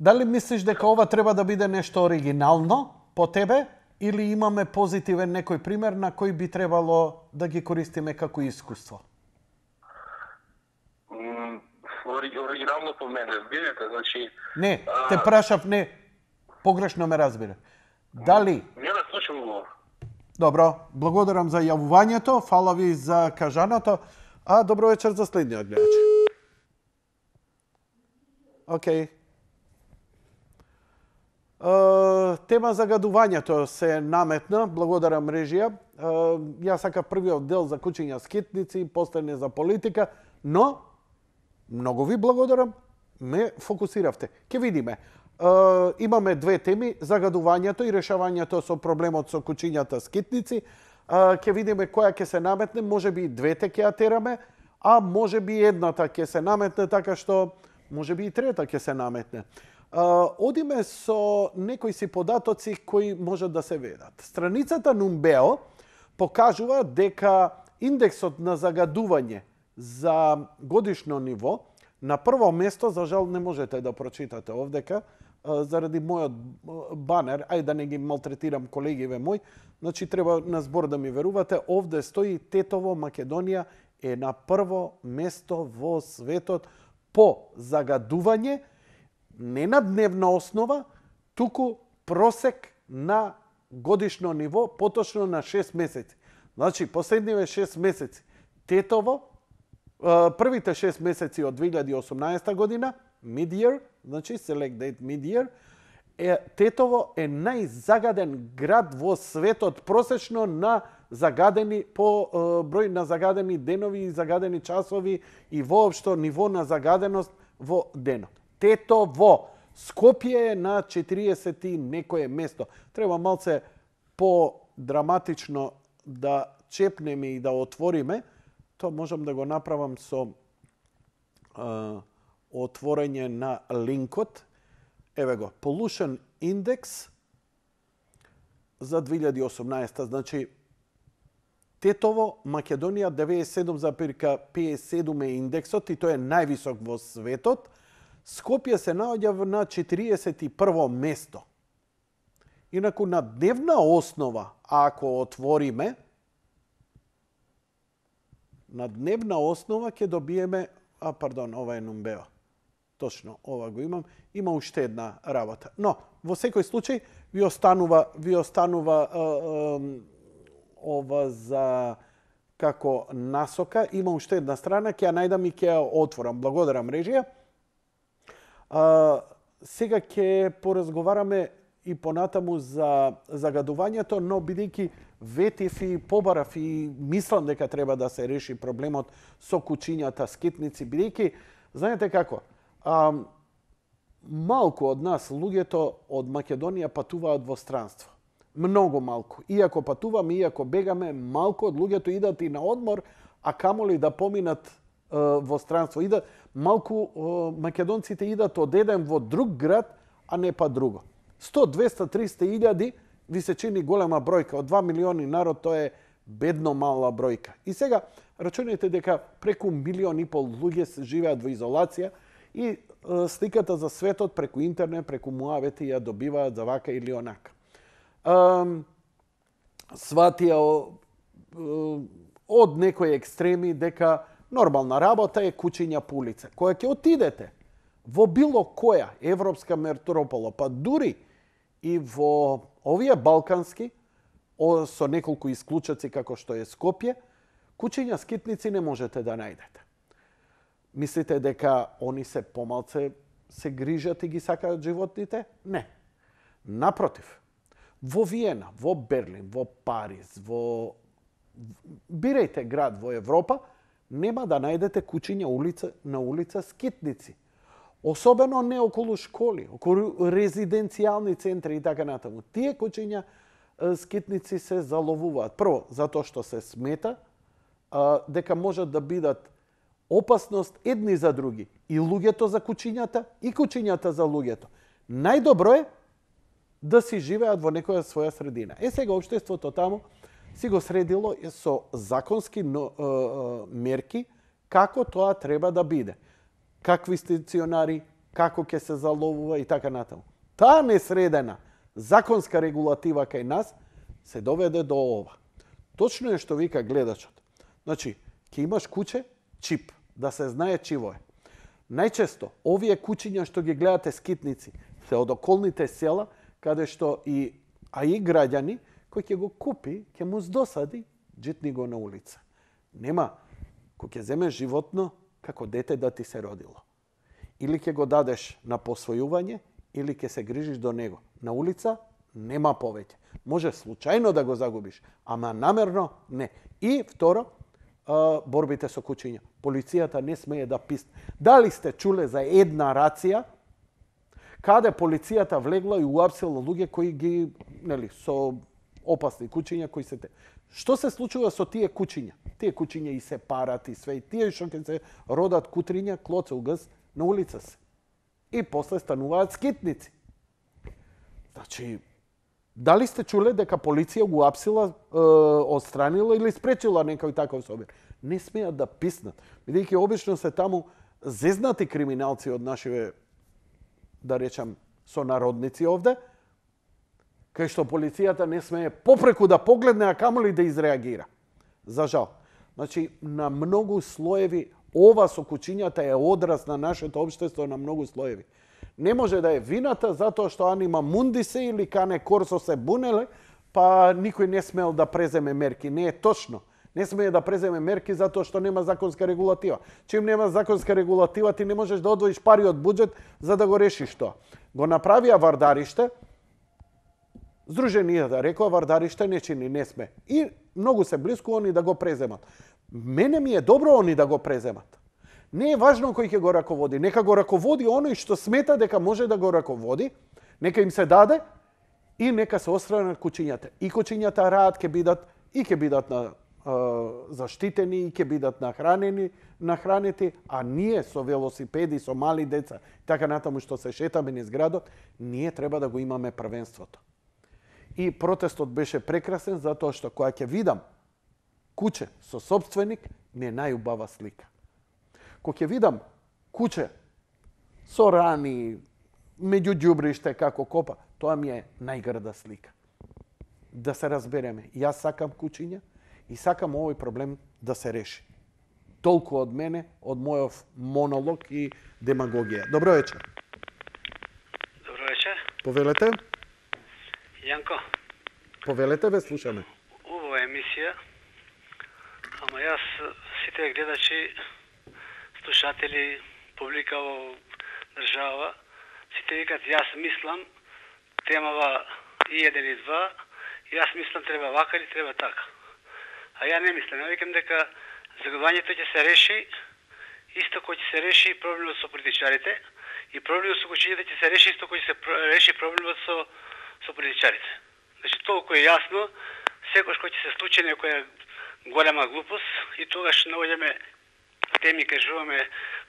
Speaker 1: Дали мислиш дека ова треба да биде нешто оригинално по тебе или имаме позитивен некој пример на кој би требало да ги користиме како искуство?
Speaker 2: Оригинално по мене, видите, значи...
Speaker 1: Не, те прашав не. Погрешно ме разбира. Дали?
Speaker 2: Не да слушам го.
Speaker 1: Добро, благодарам за јавувањето, фала ви за кажаното, а добро вечер за следниот гледач. Океј. Тема загадувањето се наметна, благодарам режија. Јас сакав првиот дел за кучиња скитници, после за политика, но многу ви благодарам, ме фокусиравте. Ке видиме. Имаме две теми, загадувањето и решавањето со проблемот со кучињата скитници. Ке видиме која ќе се наметне, можеби и двете ќе ја тераме, а можеби едната ќе се наметне, така што можеби и трета ќе се наметне. Одиме со некои си податоци кои можат да се ведат. Страницата Numbeo покажува дека индексот на загадување за годишно ниво на прво место, за жал не можете да прочитате овдека, заради мојот банер, ај да не ги малтретирам колегиве мој, значи треба на збор да ми верувате, овде стои Тетово, Македонија е на прво место во светот по загадување, не на дневна основа, туку просек на годишно ниво, поточно на 6 месеци. Значи, последниве 6 месеци Тетово, првите 6 месеци од 2018 година, mid-year, значи select date mid-year, Тетово е најзагаден град во светот просечно на загадени по број на загадени денови и загадени часови и воопшто ниво на загаденост во денот. Тетово, Скопје е на 40 и некое место. Треба малце по-драматично да чепнеме и да отвориме. Тоа можам да го направам со отворање на линкот. Еве го, Pollution Index за 2018. Значи, Тетово, Македонија 97,57 е индексот и тој е највисок во светот. Скопје се наоѓа на 41 место. Инаку на дневна основа, ако отвориме, на дневна основа ќе добиеме, ова е Numbeo. Точно, ова го имам. Има уште една работа. Но, во секој случај, ви останува ова за како насока. Има уште една страна, ќе ја најдам и ќе ја отворам. Благодарам режија. Сега ќе поразговараме и понатаму за загадувањето, но бидејќи ветив и побарав и мислам дека треба да се реши проблемот со кучињата скитници, бидејќи, знаете како, малку од нас, луѓето од Македонија патуваат во странство. Многу малку. Иако патуваме, иако бегаме, малку од луѓето идат и на одмор, а камоли да поминат во странство. Идат, малку македонците идат од еден во друг град, а не па друго. 100, 200, 300 илјади ви се чини голема бројка. Од 2 милиони народ тоа е бедно мала бројка. И сега рачунете дека преку 1,5 милион луѓе живеат во изолација и сликата за светот преку интернет, преку муавети ја добиваат за вака или онака. Сватија од некои екстреми дека нормална работа е кучиња по улица. Која ќе отидете во било која европска метропола, па дури и во овие балкански, со неколку исклучаци како што е Скопје, кучиња скитници не можете да најдете. Мислите дека они се помалце се грижат и ги сакаат животните? Не. Напротив, во Виена, во Берлин, во Париз, бирајте град во Европа, нема да најдете кучиња на улица скитници. Особено не околу школи, околу резиденцијални центри и така натаму. Тие кучиња скитници се заловуваат. Прво, затоа што се смета дека можат да бидат опасност едни за други. И луѓето за кучињата, и кучињата за луѓето. Најдобро е да си живеат во некоја своја средина. Сега општеството таму си го средило со законски мерки како тоа треба да биде. Какви стационари, како ќе се заловува и така натаму. Таа несредена законска регулатива кај нас се доведе до ова. Точно е што вика гледачот. Значи, ќе имаш куче, чип, да се знае чиво е. Најчесто, овие кучиња што ги гледате скитници, се од околните села, каде што и граѓани кој ќе го купи, ќе му здосади, джитни го на улица. Нема, кој ќе земеш животно како дете да ти се родило. Или ќе го дадеш на посвојување, или ќе се грижиш до него. На улица нема повеќе. Може случајно да го загубиш, ама намерно не. И второ, борбите со кучиња. Полицијата не смее да писне. Дали сте чуле за една рација каде полицијата влегла и уапсила луѓе кои ги, со опасни кучиња кои се те. Што се случува со тие кучиња? Тие кучиња и се парат и све, и тие што ќе се родат кутриња, клоцелгас на улица се. И после стануваат скитници. Значи, дали сте чуле дека полиција го апсила, отстранила или спречила некој таков собир? Не смеат да писнат. Бидејќи обично се таму зезнати криминалци од нашиве, да речам, сонародници овде, кај што полицијата не смее попреку да погледне, а камоли да изреагира. За жал. Значи, на многу слоеви, ова со кучињата е одраз на нашето општество на многу слоеви. Не може да е вината затоа што анима мунди се или кане корсо се бунеле, па никој не смел да преземе мерки. Не е точно. Не смее да преземе мерки затоа што нема законска регулатива. Чим нема законска регулатива, ти не можеш да одвоиш пари од буџет за да го решиш тоа. Го направија Вардариште, Здруженијата рекоа Вардариште не чини, не сме. И многу се блиску они да го преземат. Мене ми е добро они да го преземат. Не е важно кој ќе го раководи. Нека го раководи оној што смета дека може да го раководи, нека им се даде и нека се отстранат кучињата. И кучињата раат ќе бидат заштитени, и ќе бидат нахранети, а ние со велосипеди, со мали деца, така натаму што се шетаме низ градот, ние треба да го имаме првенството. И протестот беше прекрасен затоа што кога ќе видам куче со собственик, ми е најубава слика. Кога ќе видам куче со рани, меѓу ѓубриште како копа, тоа ми е најгрда слика. Да се разбереме, јас сакам кучиња и сакам овој проблем да се реши. Толку од мене, од мојов монолог и демагогија. Добро вечер.
Speaker 4: Добро вечер.
Speaker 1: Повелете.
Speaker 4: Јанко.
Speaker 1: Повелете, ве слушаме.
Speaker 4: Убава емисија, ама јас сите гледачи, слушатели, публика во држава, сите викат јас мислам, темава и 1 и 2, јас мислам треба вака или треба така. А ја не мислам, ја викам дека загадувањето ќе се реши, исто кој ќе се реши проблемот со политичарите, и проблемот со кучињата ќе се реши исто кој ќе се реши проблемот со политичарите. Значи, толку е јасно, секој кој ќе се случи некоја голема глупост и тогаш наоѓаме теми, кажуваме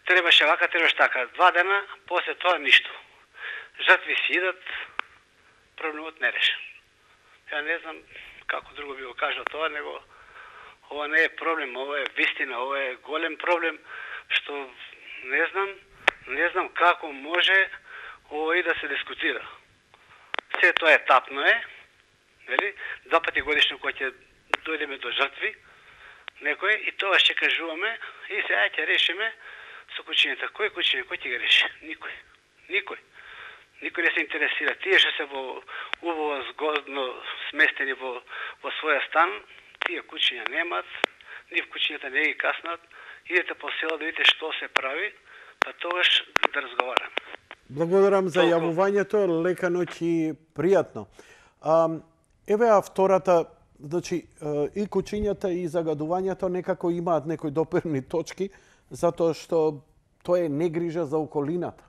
Speaker 4: требаше вака, требаше така. 2 дена, после тоа ништо. Жртви си идат, проблемот не решен. Ја не знам како друго би го кажал тоа, него ова не е проблем, ова е вистина, ова е голем проблем, што не знам како може ова и да се дискутира. Се тоа етапно е, нели? 2 пати годишно кој ќе дојдеме до жртви, некој, и тоа ќе кажуваме, и сега ќе решиме со кучињата. Кој кучиња, кој ќе ги реши? Никој. Никој не се интересира. Тие што се убаво згодно сместени во своја стан, тие кучиња немат, нив кучињата не ги каснат, идете по села да видите што се прави, па тогаш да разговараме.
Speaker 1: Благодарам за јавувањето, лека ноќ и пријатно. Еве втората, значи и кучињата и загадувањето некако имаат некои допирни точки, затоа што тоа е негрижа за околината.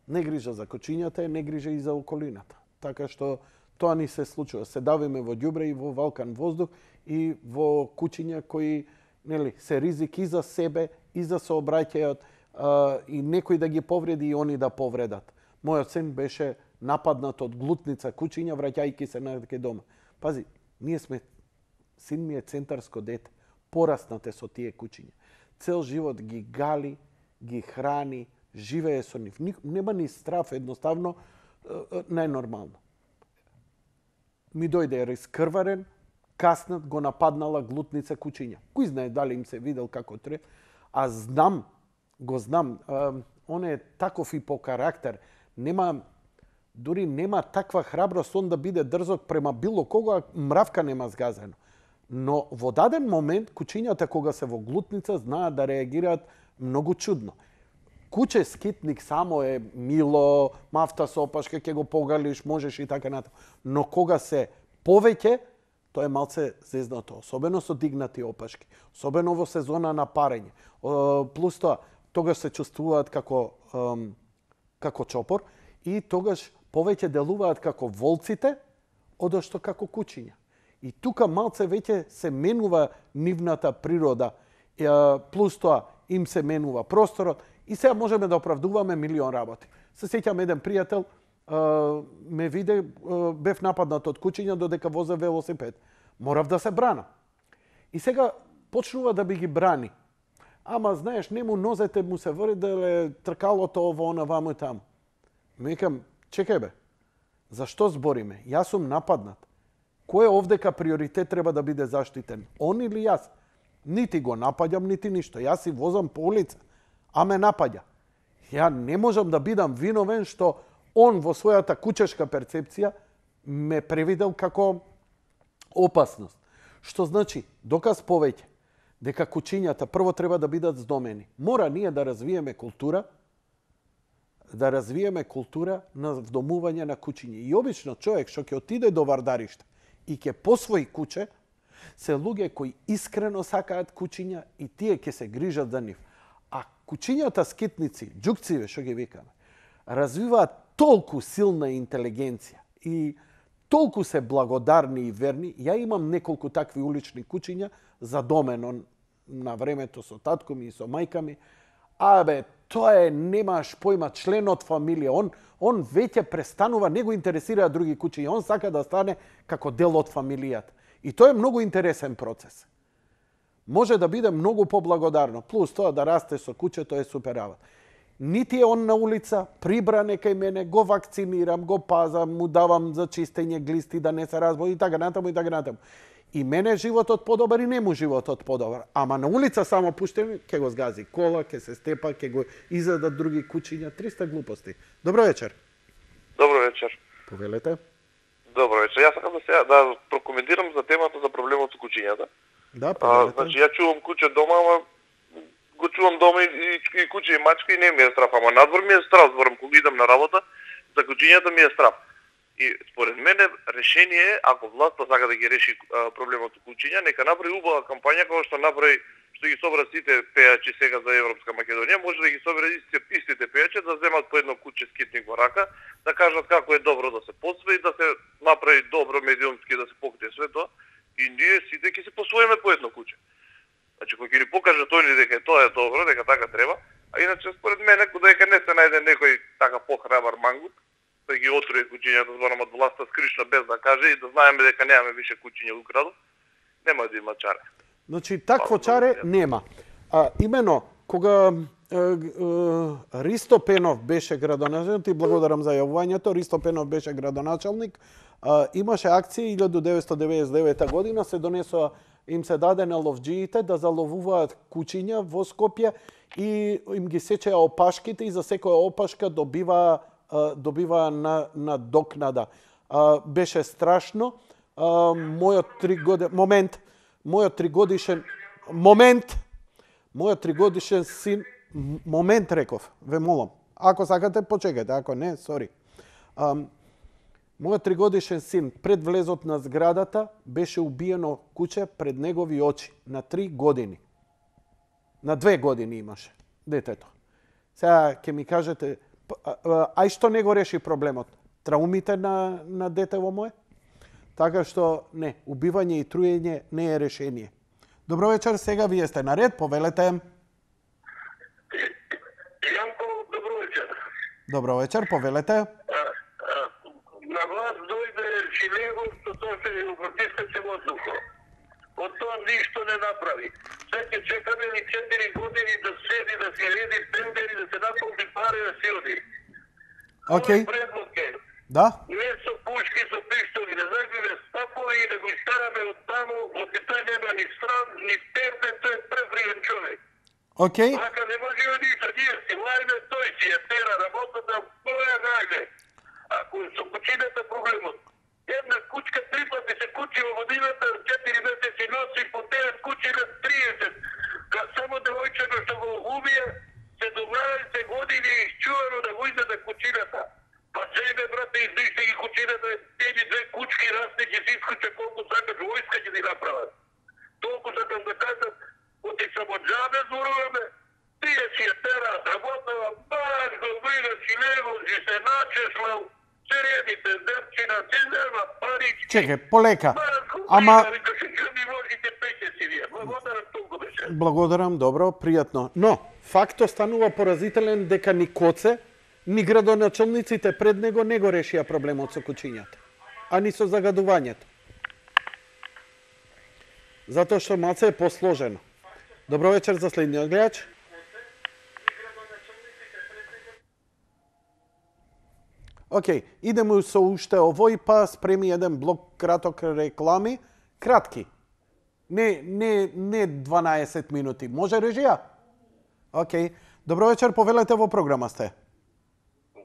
Speaker 1: Негрижа за кучињата е негрижа и за околината. Така што тоа ни се случува. Се давиме во ѓубре и во валкан воздух и во кучиња кои се ризик и за себе и за сообраќајот, и некој да ги повреди и они да повредат. Мојот син беше нападнат од глутница кучиња враќајќи се најде дома. Пази, син ми е центарско дете, пораснате со тие кучиња. Цел живот ги гали, ги храни, живее со нив. Нема ни страв, едноставно, најнормално. Ми дојде раскрварен, каснат го нападнала глутница кучиња. Кој знае дали им се видел како треба, а го знам, он е таков и по карактер. Нема дури нема таква храброст он да биде дрзок према било кога, мравка нема згазено. Но во даден момент, кучињата кога се во глутница, знаат да реагираат многу чудно. Куче скитник само е мило, мафта со опашка, ќе го погалиш, можеш и така натаму. Но кога се повеќе, тоа е малце зезнато, особено со дигнати опашки, особено во сезона на парење. Плюс тоа, тогаш се чувствуваат како чопор и тогаш повеќе делуваат како волците, одошто како кучиња. И тука малце веќе се менува нивната природа, плюс тоа им се менува просторот и сега можеме да оправдуваме милион работи. Се сеќам еден пријател, ме виде, бев нападнат од кучиња додека возе велосипед. Морав да се брана. И сега почнува да би ги брани. Ама, знаеш, нему нозете му се врделе, тркалото ово, она, ваму и таму. Мекам, чекај бе, зашто збориме? Јас сум нападнат. Кој е овдека приоритет треба да биде заштитен? Он или јас? Нити го напаѓам, нити ништо. Јас си возам по улица, а ме напаѓа. Ја не можам да бидам виновен што он во својата кучешка перцепција ме превидел како опасност. Што значи, доказ повеќе, дека кучињата прво треба да бидат здомени. Мора ние да развиеме култура на вдомување на кучиња. И обично човек што ќе отиде до вардариште и ќе посвои куче, се луѓе кои искрено сакаат кучиња и тие ќе се грижат за нив. А кучињата скитници, џукциве што ги викаме, развиваат толку силна интелигенција и толку се благодарни и верни. Ја имам неколку такви улични кучиња задомено на времето со татко ми и со мајка ми. Абе, тоа е, немаш појма, член од фамилија. Он веќе престанува, не го интересира други кучиња. Он сака да стане како дел од фамилијата. И тоа е многу интересен процес. Може да биде многу поблагодарно. Плюс тоа да расте со кучето е супер работа. Нити е он на улица, прибране кај мене, го вакцинирам, го пазам, му давам за чистење глисти да не се разбоди и така натаму и така натаму. И мене животот подобар и нему животот подобар. Ама на улица само пуштени, ќе го згази кола, ќе се степа, ќе го изедат други кучиња, 300 глупости. Добро вечер.
Speaker 5: Добро вечер.
Speaker 1: Повелете.
Speaker 5: Добро вечер. Јас сакам да прокоментирам за темата за проблемот со кучињата.
Speaker 1: Да, повелете.
Speaker 5: Значи, ја чувам куче дома, ама го чувам дома и куче и мачка и не ми е страф, ама надвор ми е страф, зборам кога идам на работа, за кучињата ми е страф. И според мене решение е, ако власта сака да ги реши проблемот со кучиња, нека направи убава кампања како што направи, што ги собра сите пејачи сега за Европска Македонија, може да ги собере истите пејачи да земат по едно куче скитник во рака, да кажат како е добро да се посвои, да се направи добро медиумски да се покрие све тоа и ние сите ќе се посвоиме по едно куче. Значи, кој ќе ни покаже тој дека тоа е добро, дека така треба, а иначе според мене дека не се најде некој така похрабар мангут, да ги отруи кучињата зборам од власта скришно без да каже и да знаеме дека немаме више кучиња во градот, нема да има чаре.
Speaker 1: Значи, такво чаре нема. Имено, кога Ристо Пенов беше градоначалник, и благодарам за јавувањето, Ристо Пенов беше градоначалник, имаше акција 1999 година, се донесоа, им се даде на ловџиите да заловуваат кучиња во Скопје и им ги сечеа опашките и за секоја опашка добива на докнада. Беше страшно. Мојот тригодишен син, момент реков, ве молам. Ако сакате, почекате, ако не, сори. Мојот тригодишен син пред влезот на зградата беше убиено куче пред негови очи на 3 години. На 2 години имаше детето. Сега ќе ми кажете, ај што не го реши проблемот? Траумите на детево мое? Така што не, убивање и труење не е решение. Добро вечер, сега вие сте наред, повелете.
Speaker 2: Јанко, добро вечер.
Speaker 1: Добро вечер, повелете.
Speaker 2: На власт дојде Шилего, што тоа се протесташе воздухо. Од тоа ништо не направи. Сега ќе чекаме ли 4 години да седи, да се леди тендери, да се наполни пари, да се оди.
Speaker 1: Океј. Да.
Speaker 2: Не со пушки, со пиштоли, да загиве стапови и да го стараме од таму, од тој нема ни стран, ни терпен, тој е превриен човек.
Speaker 1: Океј.
Speaker 2: Така не може ништо, ние си лајме, тој си ја тера работата, моја најде. Ако куќињата проблемот. Една кучка 3 пати се кучи во годината, 4 месеци носи по 9 кучи на 30. Само девојчето што го убија, 17 години изчувано да го издаде кучината. Па себе, брате, издиште ги кучината, тези 2 кучки расте, ќе си искуча колку сакаш, војска ќе ти направат. Толку сакам да кажам, оти само джабе зборуваме, тие си ја тераат, работава, баш добрина си лево, си се начеслал, средите дерчина, си нема пари.
Speaker 1: Чекај, полека. Ама благодарам, добро, пријатно. Но факто станува поразителен дека ни Коце, ни градоначалниците пред него не го решија проблемот со кучињата, а ни со загадувањето. Затоа што малце е посложено. Добро вечер за следниот гледач. Океј, идемо со уште овој, па спреми еден блок краток реклами. Кратки. Не 12 минути. Може режија? Океј. Добро вечер, повелете во програма сте.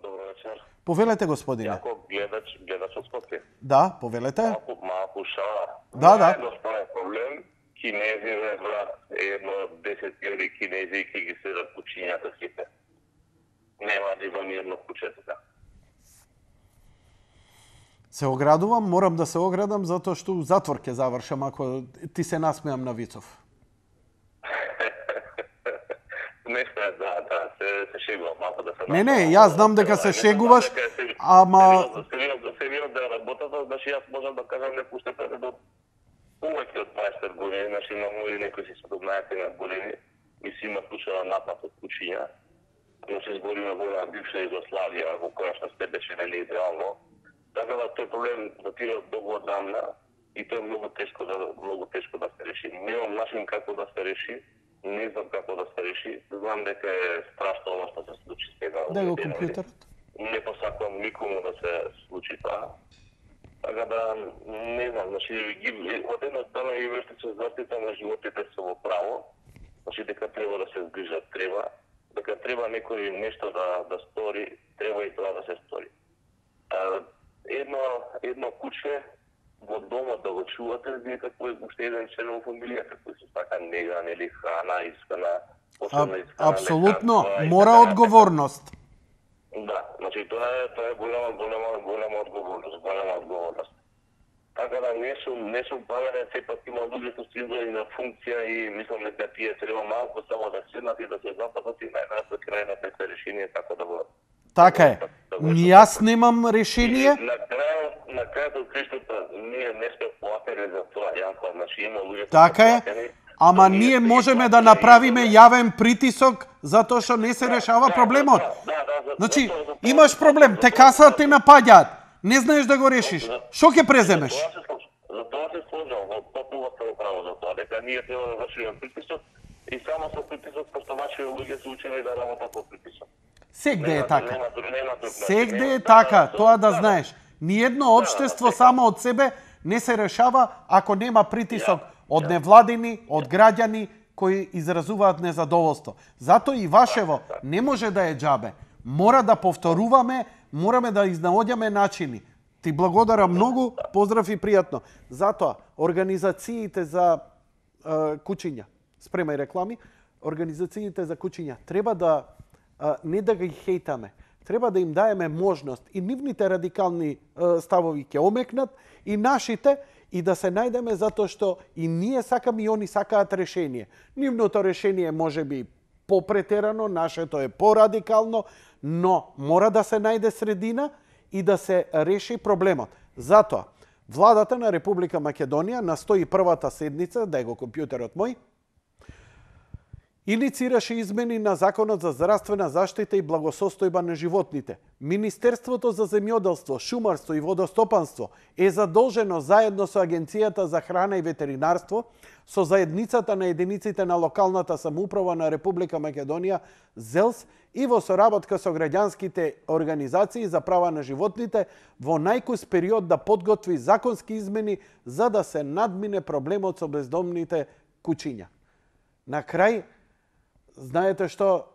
Speaker 6: Добро вечер.
Speaker 1: Повелете, господине.
Speaker 6: Јако гледач од Скопје.
Speaker 1: Да, повелете.
Speaker 6: Малку шала.
Speaker 1: Да.
Speaker 6: Едноставен проблем. Кинезиве, брат, едно 10.000 кинези ки ги седат кучињата сите. Нема да има мирно куче така.
Speaker 1: Се оградувам, морам да се оградам затоа што у затвор ќе завршам ако ти се насмеам на Вицов.
Speaker 6: Не се, да, се шегувам малко да се...
Speaker 1: Не, јас знам дека се шегуваш, ама...
Speaker 6: Сериозно да работата, значи јас можам да кажам не пуштете до повеќе од 20 години, значи имам и некои си 17 години и си има случаја напад од кучиња. Но се збориме во една бивша Југославија, во која што сте беше нели идеално. Така да тој проблем датира долго одамна и тоа е многу тешко да се реши. Немам начин како да се реши, не знам како да се реши. Знам дека е страшно оно што се случи сега.
Speaker 1: Дај го компјутерот.
Speaker 6: Не посакувам никому да се случи тоа. Така да не знам, значи од една страна и вештите заштита на животите се во право, значи дека треба да се згрижат, дека треба некој нешто да стори, треба и тоа да се стори. Едно куче во домот да го чувате, некако е уште еден член во фамилијата кој се сака нега, нели храна, искана, посебна искана.
Speaker 1: Апсолутно, мора одговорност.
Speaker 6: Да, значи тоа е голема одговорност. Така да не сум паверен, сепак има луѓе што се изгледа на функција и мислам дека тие треба малку само да седнат и да се запатат и најнапред крајното се решение како да го...
Speaker 1: Така е. Јас немам решение.
Speaker 6: На крајот од криштото ние не сме платени за тоа, Јанко, значи има луѓе...
Speaker 1: Така е. Ама ние можеме да направиме јавен притисок затоа што не се решава проблемот. Значи, имаш проблем, те касаат те напаѓаат. Не знаеш да го решиш. Што ќе преземеш?
Speaker 6: За тоа се сложам, потпуно се право за тоа, дека ние треба да вршиме притисок и само со притисок, пошто вашите луѓе се учени да работат по притисок.
Speaker 1: Сегде е така. Сегде е така, тоа да знаеш. Ниедно општество само од себе не се решава ако нема притисок од невладини, од граѓани кои изразуваат незадоволство. Затоа и вашево не може да е џабе. Мора да повторуваме, мораме да изнаоѓаме начини. Ти благодарам многу, поздрав и пријатно. Затоа, организациите за кучиња, спремај реклами, организациите за кучиња треба да не да ги хейтаме, треба да им даеме можност и нивните радикални ставови ќе омекнат и нашите и да се најдеме затоа што и ние сакаме и они сакаат решение. Нивното решение може би попретерано, нашето е порадикално, но мора да се најде средина и да се реши проблемот. Затоа, владата на Република Македонија на 101-та седница, дај го компјутерот мој, иницираше измени на Законот за здравствена заштита и благосостојба на животните. Министерството за земјоделство, шумарство и водостопанство е задолжено заедно со Агенцијата за храна и ветеринарство, со заедницата на единиците на локалната самоуправа на Република Македонија, ЗЕЛС, и во соработка со граѓанските организации за права на животните, во најкус период да подготви законски измени за да се надмине проблемот со бездомните кучиња. На крај, знаете што,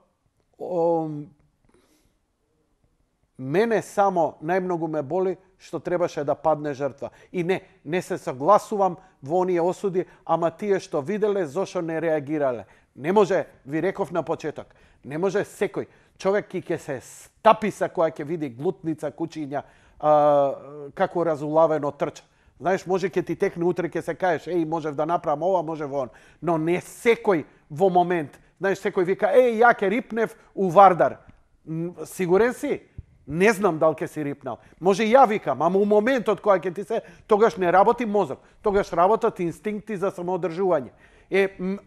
Speaker 1: мене само најмногу ме боли што требаше да падне жртва. И не се согласувам во оние осуди, ама тие што виделе, зошто не реагирале. Не може, ви реков на почеток, не може секој човек ќе се стаписа кога ќе види глутница, кучиња, како разулавено трча. Знаеш, може ќе ти текне утре, ќе се кажеш, можев да направам ова, може во он. Но не секој во момент. Знаеш, секој вика, ја ќе рипнев у Вардар. Сигурен си? Не знам дали ќе си рипнал. Може и ја викам, ама у моментот кога ќе ти се, тогаш не работи мозок. Тогаш работат инстинкти за самоодржување.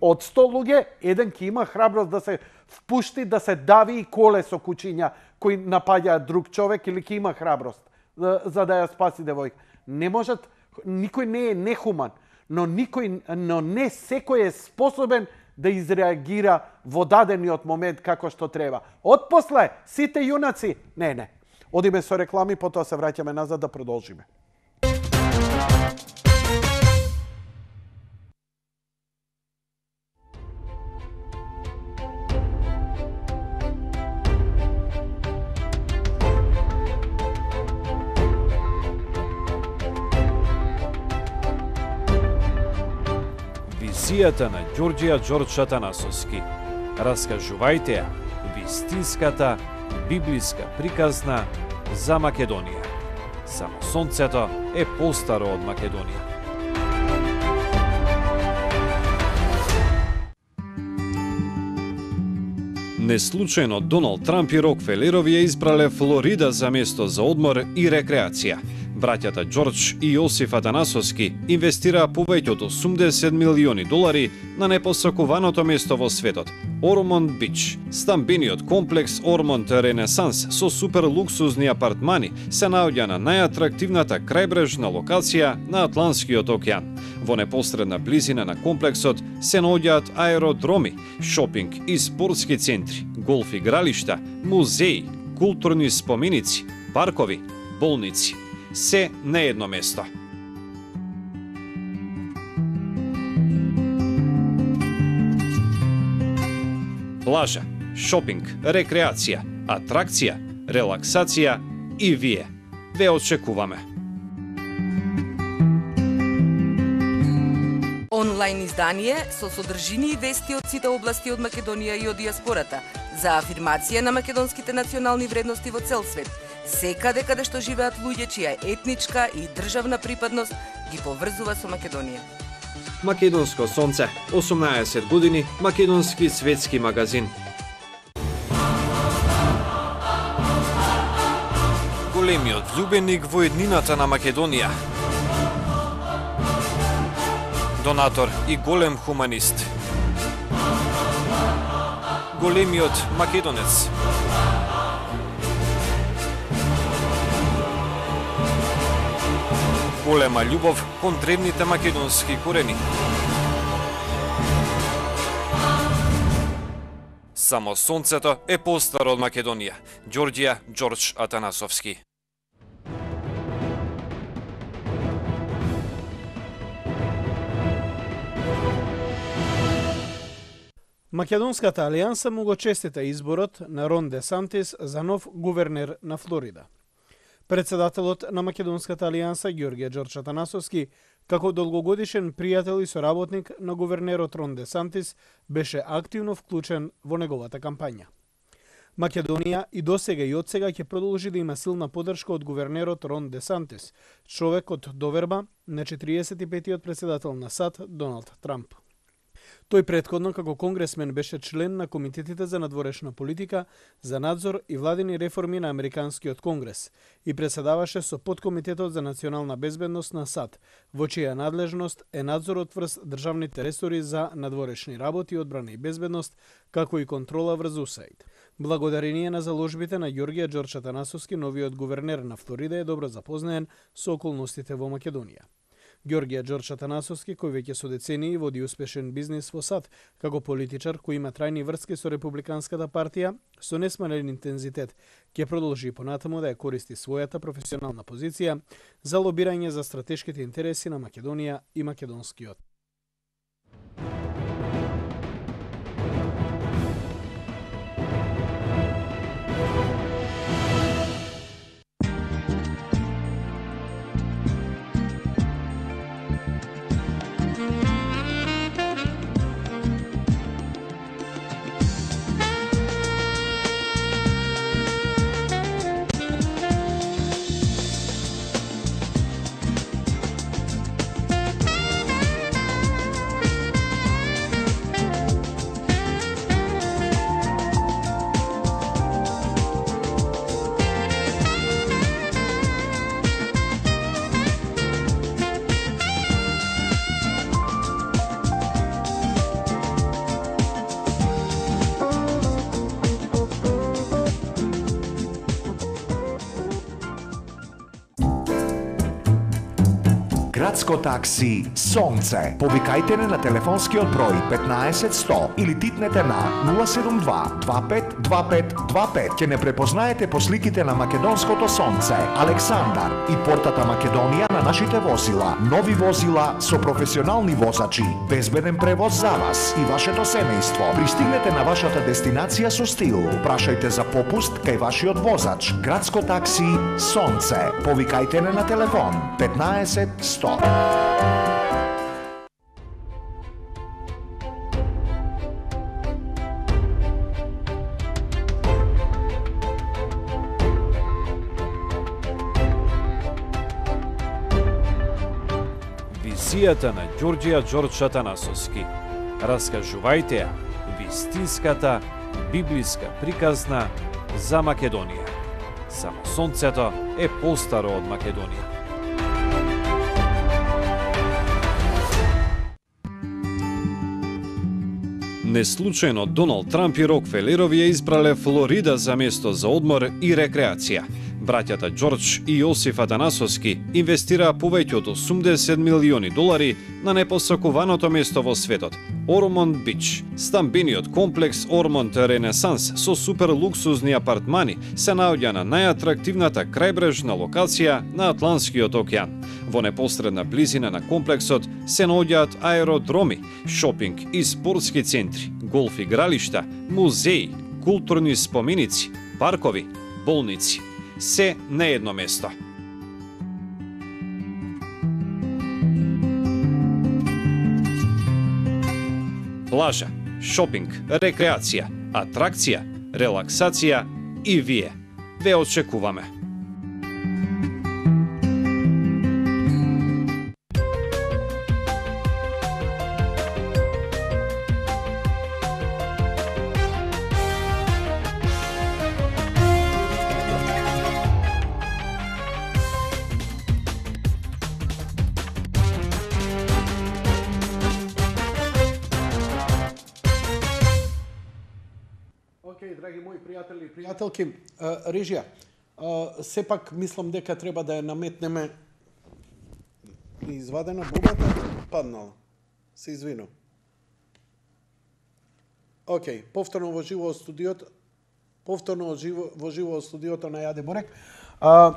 Speaker 1: Од 100 луѓе, еден ќе има храброст да се впушти, да се дави и коле со кучиња кои напаѓаат друг човек, или ќе има храброст за да ја спаси девојка. Не можат, никој не е нехуман, но не секој е способен да изреагира во дадениот момент како што треба. Отпосле, сите јунаци, не. Одиме со реклами, потоа се враќаме назад да продолжиме.
Speaker 7: Визијата на Ѓорѓија Ѓорџ Атанасовски. Раскажувајте ја вистинската библиска приказна за Македонија. Само сонцето е постаро од Македонија. Неслучајно Доналд Трамп и Рокфелерови ја избрале Флорида за место за одмор и рекреација. Браќата Ѓорџ и Јосиф Атанасовски инвестираа повеќе од $80 милиони на непосакуваното место во светот – Ормонд Бич. Стамбениот комплекс Ормонд Ренесанс со супер луксузни апартмани се наоѓа на најатрактивната крајбрежна локација на Атлантскиот океан. Во непосредна близина на комплексот се наоѓаат аеродроми, шопинг и спортски центри, голф игралишта, музеи, културни споменици, паркови, болници. Се на едно место. Плажа, шопинг, рекреација, атракција, релаксација и вие. Ве очекуваме.
Speaker 8: Онлайн издание со содржини и вести од сите области од Македонија и од диаспората за афирмација на македонските национални вредности во цел свет. Секаде каде што живеат луѓе чија етничка и државна припадност ги поврзува со Македонија.
Speaker 7: Македонско сонце, 18 години, македонски светски магазин. Големиот влюбеник во еднината на Македонија. Донатор и голем хуманист. Големиот македонец. Голема љубов кон древните македонски корени. Само сонцето е постаро од Македонија. Ѓорѓија Ѓорџ Атанасовски.
Speaker 9: Македонската алијанса му го честита изборот на Рон Де Сантис за нов гувернер на Флорида. Председателот на Македонската алијанса Ѓорѓија Ѓорџ Атанасовски, како долгогодишен пријател и соработник на гувернерот Рон Де Сантис, беше активно вклучен во неговата кампања. Македонија и досега и одсега ќе продолжи да има силна подршка од гувернерот Рон Де Сантис, човек од доверба на 45-тиот председател на САД Доналд Трамп. Тој претходно како конгресмен беше член на комитетите за надворешна политика, за надзор и владени реформи на Американскиот конгрес и председаваше со подкомитетот за национална безбедност на САД, во чија надлежност е надзорот врз државните ресори за надворешни работи, одбрана и безбедност, како и контрола врз УСАИД. Благодарение на заложбите на Ѓорѓија Ѓорџ Атанасовски, новиот гувернер на Флорида е добро запознаен со околностите во Македонија. Ѓорѓија Ѓорџ Атанасовски, кој веќе со децении води успешен бизнис во САД, како политичар кој има трајни врски со Републиканската партија, со несмален интензитет, ќе продолжи и понатаму да ја користи својата професионална позиција за лобирање за стратешките интереси на Македонија и македонскиот.
Speaker 10: Градско такси Сонце. Повикајте не на телефонскиот број 15 100 или титнете на 072 25 25 25. Ќе не препознаете по сликите на македонското сонце, Александар и портата Македонија на нашите возила. Нови возила со професионални возачи, безбеден превоз за вас и вашето семејство. Пристигнете на вашата дестинација со стил. Прашајте за попуст кај вашиот возач. Градско такси Сонце. Повикајте не на телефон 15 100.
Speaker 7: Визијата на Ѓорѓија Ѓорџ Атанасовски. Раскажувајте ја вистинската библиска приказна за Македонија. Само сонцето е постаро од Македонија. Неслучајно Доналд Трамп и Рокфелерови ја избрале Флорида за место за одмор и рекреација. Браќата Ѓорџ и Јосиф Атанасовски инвестираа повеќе од $80 милиони на непосакуваното место во светот – Ормонд Бич. Стамбениот комплекс Ормонд Ренесанс со супер луксузни апартмани се наоѓа на најатрактивната крајбрежна локација на Атлантскиот океан. Во непосредна близина на комплексот се наоѓаат аеродроми, шопинг и спортски центри, голф игралишта, музеи, културни споменици, паркови, болници. Се на едно место. Плажа, шопинг, рекреација, атракција, релаксација и вие. Ве очекуваме.
Speaker 1: Драги мои пријатели и пријателки, режија, сепак мислам дека треба да ја наметнеме извадена бубата, паднала. Се извинувам. Океј, повторно во живо во студиото на Јаде Бурек.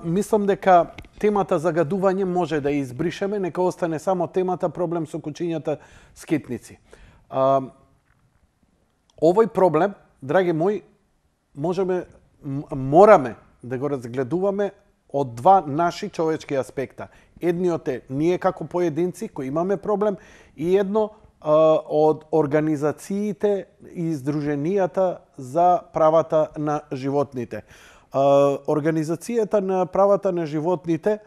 Speaker 1: Мислам дека темата загадување може да избришеме, нека остане само темата проблем со кучињата скитници. Овој проблем, драги мои, мораме да го разгледуваме од два наши човечки аспекта. Едниот е ние како поединци кои имаме проблем и едно од организациите и издруженијата за правата на животните. Организацијата на правата на животните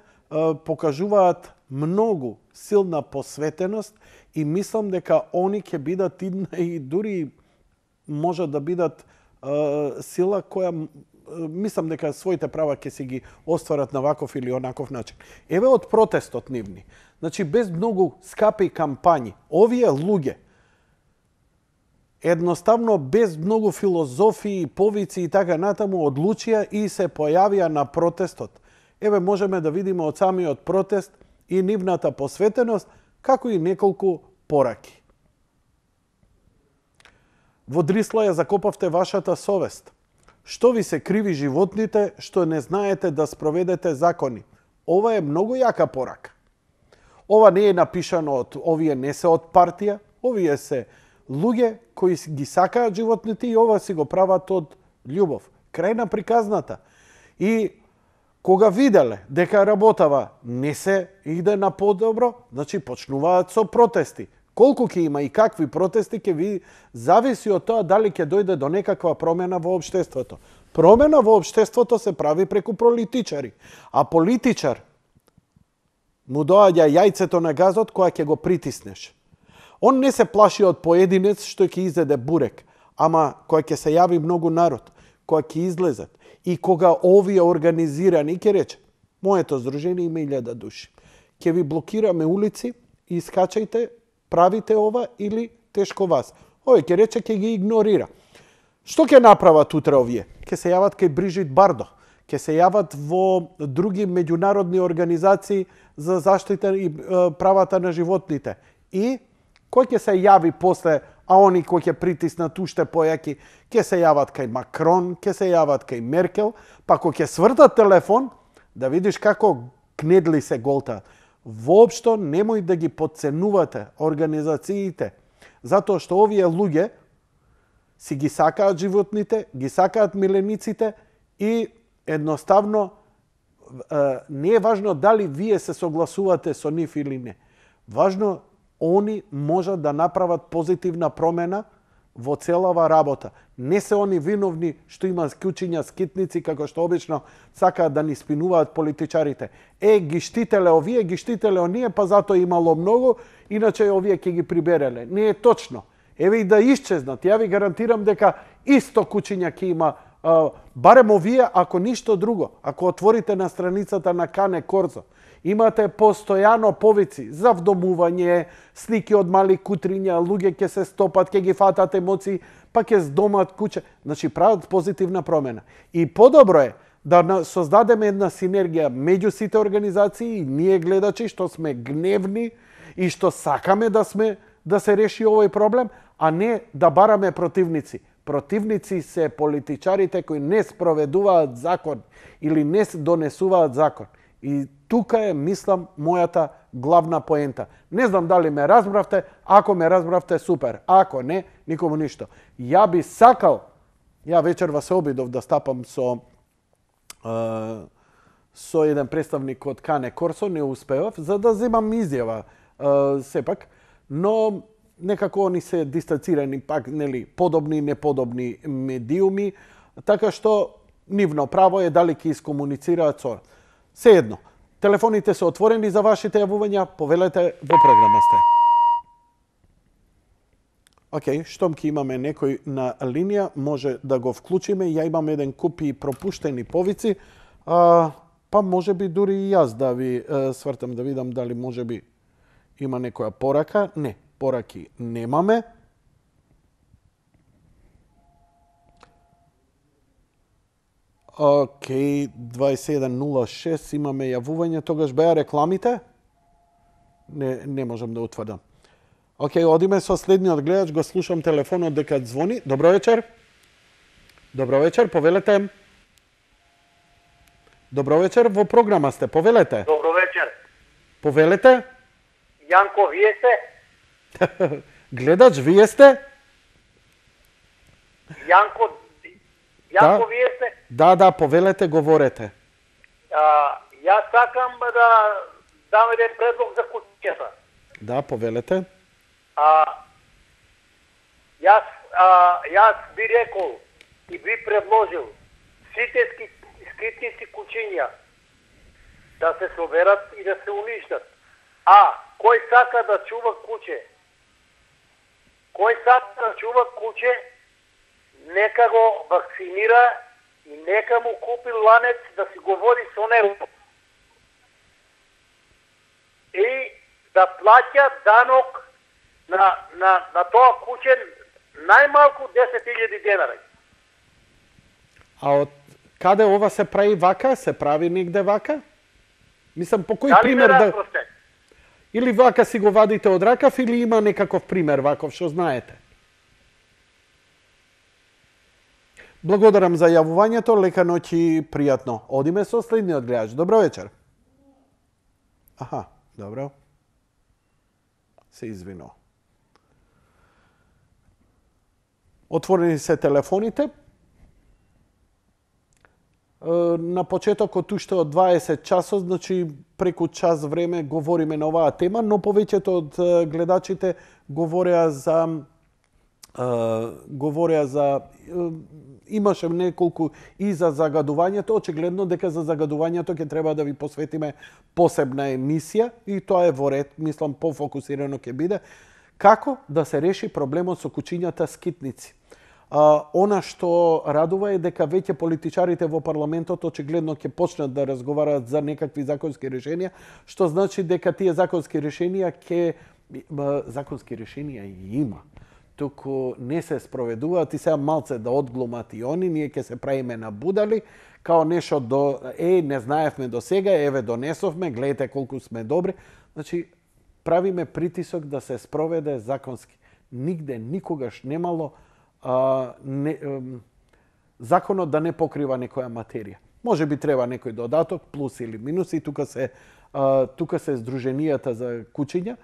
Speaker 1: покажуваат многу силна посветеност и мислам дека они ќе бидат и дури може да бидат сила која мислам дека своите права ќе си ги остварат на ваков или онаков начин. Еве од протестот нивни. Значи без многу скапи кампањи, овие луѓе едноставно без многу филозофии, повици и така натаму одлучија и се појавија на протестот. Еве можеме да видиме од самиот протест и нивната посветеност, како и неколку пораки. Во Дрисла ја закопавте вашата совест. Што ви се криви животните, што не знаете да спроведете закони? Ова е многу јака порака. Ова не е напишано од овие не се од партија, овие се луѓе кои ги сакаат животните и ова си го прават од љубов. Крај на приказната. И кога виделе дека работава не се иде на подобро, значи почнуваат со протести. Колку ќе има и какви протести ќе ви зависи од тоа дали ќе дојде до некаква промена во општеството. Промена во општеството се прави преку политичари, а политичар му доаѓа јајцето на газот која ќе го притиснеш. Он не се плаши од поединец што ќе изеде бурек, ама која ќе се јави многу народ, која ќе излезат. И кога овие организирани ќе рече, моето здружение има 1000 души, ќе ви блокираме улици и искачајте, правите ова или тешко вас. Овој ќе рече ќе ги игнорира. Што ќе направат утре овие? Ќе се јават кај Брижит Бардо, ќе се јават во други меѓународни организации за заштита и правата на животните. И кој ќе се јави после, а они кои ќе притиснат уште појаки, ќе се јават кај Макрон, ќе се јават кај Меркел, па кој ќе свртат телефон, да видиш како гнедли се голта. Воопшто немој да ги подценувате организациите, затоа што овие луѓе си ги сакаат животните, ги сакаат милениците и едноставно не е важно дали вие се согласувате со нив или не. Важно они можат да направат позитивна промена во целава работа. Не се они виновни што има кучиња, скитници, како што обично сакаат да ни спинуваат политичарите. Ги штителе овие, ги штителе оние, па затоа имало многу, иначе овие ќе ги прибереле. Не е точно. Еве и да исчезнат. Ја ви гарантирам дека исто кучиња ќе има, барем овие, ако ништо друго. Ако отворите на страницата на Кане Корзо, имате постојано повици за вдомување, слики од мали кутриња, луѓе ќе се стопат, ќе ги фатат емоции, па ќе здомат куќе. Значи прават позитивна промена. И подобро е да создадеме една синергија меѓу сите организации и ние гледачи што сме гневни и што сакаме да се реши овој проблем, а не да бараме противници. Противници се политичарите кои не спроведуваат закон или не донесуваат закон. И тука е, мислам, мојата главна поента. Не знам дали ме разбравте, ако ме разбравте, супер. Ако не, никому ништо. Ја би сакал, ја вечерва се обидов да стапам со еден представник од Кане Корсо, не успеав, за да земам изјава сепак, но некако они се дистанцирани пак, нели, подобни, неподобни медиуми, така што нивно право е дали ќе искомуницираат со. Сеедно, телефоните се отворени за вашите јавувања, повелете, во програма сте. Океј, штом ќе имаме некој на линија, може да го вклучиме. Ја имам еден куп и пропуштени повици, па може би дури и јас да ви свртам да видам дали може би има некоја порака. Не, пораки немаме. Океј, 2106 имаме јавување, тогаш беа рекламите? Не можам да утврдам. Океј, одиме со следниот гледач, го слушам телефонот дека звони. Добро вечер. Добро вечер, повелете. Добро вечер, во програма сте, повелете.
Speaker 11: Добро вечер.
Speaker 1: Повелете.
Speaker 11: Јанко, вие сте?
Speaker 1: Гледач, вие сте?
Speaker 11: Јанко, вие сте?
Speaker 1: Да, повелете, говорете.
Speaker 11: Јас сакам да дам еден предлог за куќата.
Speaker 1: Да, повелете.
Speaker 11: Јас би рекол и би предложил сите скитници кучиња да се соберат и да се уништат. Кој сака да чува куче, нека го вакцинира и нека му купи ланец да си говори со него. И да плаќа данок на тоа куче најмалку 10.000 денари.
Speaker 1: А од каде ова се прави вака? Се прави негде вака? Мислам, по кој пример да... Или вака си го вадите од ракав, или има некаков пример ваков, што знаете? Благодарам за јавувањето, лека ноќ и пријатно. Одиме со следниот гледач. Добро вечер. Аха, добро. Се извинувам. Отворени се телефоните. На почетокот уште од 20 часот, значи преку час време говориме на оваа тема, но повеќето од гледачите говореа за имаше неколку и за загадувањето, очигледно дека за загадувањето ќе треба да ви посветиме посебна емисија и тоа е во ред, мислам пофокусирано ќе биде како да се реши проблемот со кучињата скитници. Она што радува е дека веќе политичарите во парламентот очигледно ќе почнат да разговараат за некакви законски решенија, што значи дека тие законски решенија и има. туку не се спроведуваат и сега малце да одглумат и они, ние ќе се правиме на будали, као нешто не знаевме до сега, еве донесовме, гледате колку сме добри. Значи, правиме притисок да се спроведе законски. Нигде, никогаш немало законот да не покрива некоја материја. Може би треба некој додаток, плюс или минус, и тука се Сдруженијата за кучиња,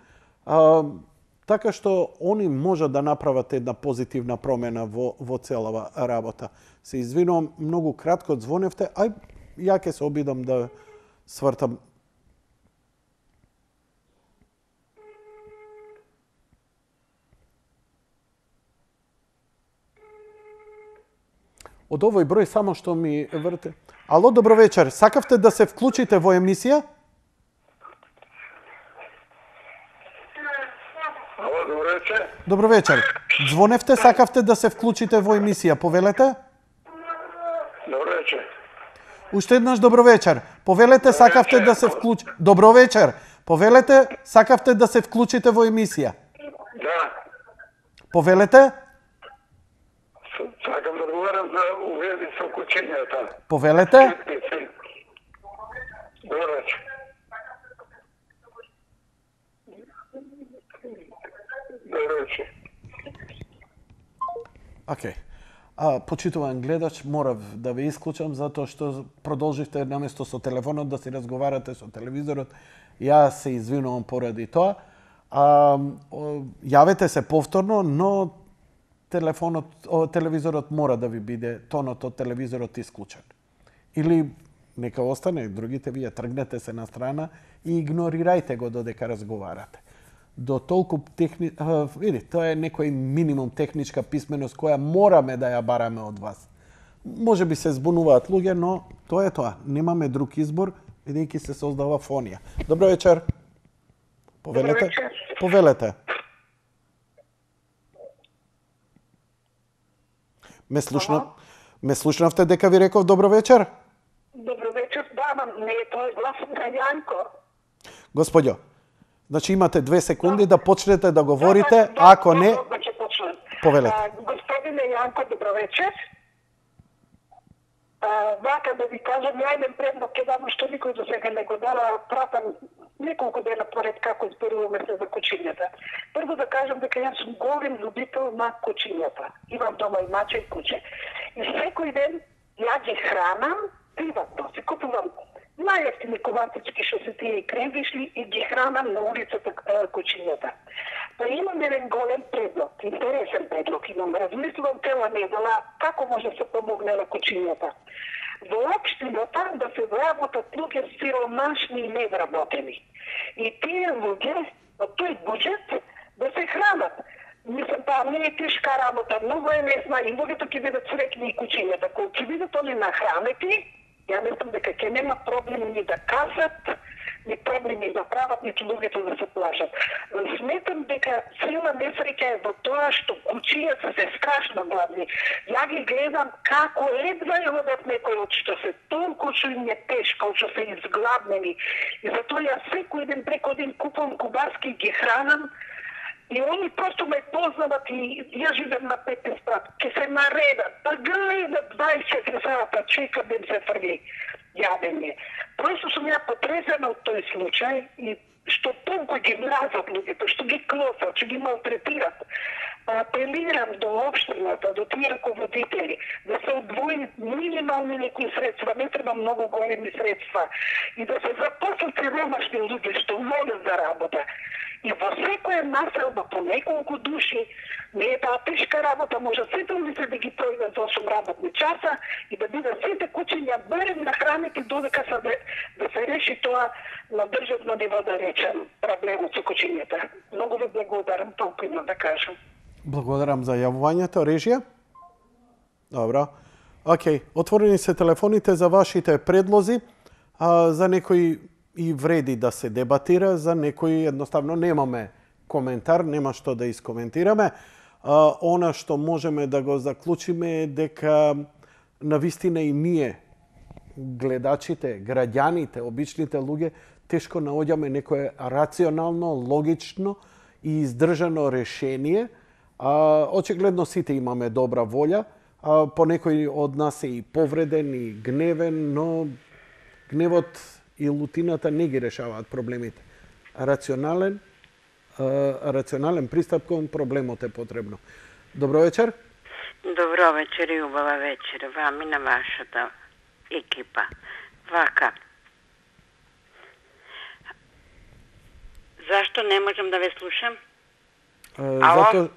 Speaker 1: така што они можат да направат една позитивна промена во целава работа. Се извинувам, многу кратко звоневте, ја ќе се обидам да свртам. Од овој број само што ми врте. Ало, добро вечер. Сакавте да се вклучите во емисија?
Speaker 12: Ало, добро вечер.
Speaker 1: Добро вечер. Звоневте, сакавте да се вклучите во емисија. Повелете?
Speaker 12: Добро вечер.
Speaker 1: Уште еднаш добро вечер. Повелете, сакавте да се вклучите. Добро вечер. Повелете, сакавте да се вклучите во емисија.
Speaker 12: Да.
Speaker 1: Повелете?
Speaker 12: Сакам да одговарам за увези со кучињата.
Speaker 1: Повелете?
Speaker 12: Добро вечер. Добро вечер.
Speaker 1: Океј. Почитуван гледач, морав да ве исклучам затоа што продолживте наместо со телефонот да си разговарате со телевизорот. Јас се извинувам поради тоа. Јавете се повторно, но телевизорот мора да ви биде тонот од телевизорот исклучен. Или нека остане, другите вие тргнете се на страна и игнорирајте го додека разговарате. До толку види, тоа е некој минимум техничка писменост која мораме да ја бараме од вас. Може би се збунуваат луѓе, но тоа е тоа. Немаме друг избор, бидејќи се создава фонија. Добро вечер. Повелете? Повелете. Ме слушнавте дека ви реков добро вечер?
Speaker 13: Добро вечер, да, не е тоа гласот на Јанко.
Speaker 1: Господјо, значи имате 2 секунди да почнете да говорите, ако не... Повелете.
Speaker 13: Господине Јанко, добро вечер. Вака да ви кажам, ја еден предлог ќе дам што никој до сега не го дава, пратам неколку дена поред како зборуваме се за кучињата. Прво да кажам дека јас сум голем любител на кучињата. Имам дома и маче и куче. И секој ден ја ги хранам приватно. Се купувам најевтини коватички што се тие и крендишли и ги хранам на улицата кучињата. Па имам еден голем предлог, интересен предлог имам. Размислувам цела недела како може да се помогне на кучињата. Во општината да се вработат луѓе сиромашни и недработени. И тие луѓе од тој буџет да се хранат. Мислам, не е тешка работа, многу е лесна и луѓето ќе бидат среќни и кучињата. Кога ќе бидат они нахранети, ја мислам дека ќе нема проблем ни да касат, ни проблеми да прават, ниту луѓето да се плашат. Сметам дека сила несреќа е во тоа што кучињата се страшно гладни. Ја ги гледам како едва ја одат некој од што се толку што им е тешко, што се изгладнени. И затоа ја секој ден преко ден купувам кубарски ги хранам. И они просто ме познават и ја живеам на 15 спрат. Ке се наредат, да гледат 24 сата, чекат да им се фрли јадење. Просто сум ја потресена од тој случај и што толку ги мразат луѓето, што ги клосат, што ги малтретират. Апелирам до општината, до тие раководители, да се одвои минимални некои средства, не треба многу големи средства, и да се запослат сиромашни луѓе што волат за работа. И во секоја населба по неколку души, не е таа тешка работа, може сите улици да ги пројдат за 8 работни часа и да бидат сите кучиња барем нахранети додека да се реши тоа на државно ниво, да речем, проблемот со кучињата. Многу ви благодарам, толку имам да кажам.
Speaker 1: Благодарам за јавувањето. Режија? Добро. Океј, отворени се телефоните за вашите предлози. За некои и вреди да се дебатира, за некои едноставно немаме коментар, нема што да искоментираме. Она што можеме да го заклучиме е дека навистина и ние, гледачите, граѓаните, обичните луѓе, тешко наоѓаме некое рационално, логично и издржано решение Очигледно сите имаме добра волја, по некој од нас е и повреден и гневен, но гневот и лутината не ги решаваат проблемите. Рационален пристап кон проблемот е потребно. Добро вечер.
Speaker 14: Добро вечер и убава вечер вам и на вашата екипа. Вака. Зашто не можам да ве слушам? Ало?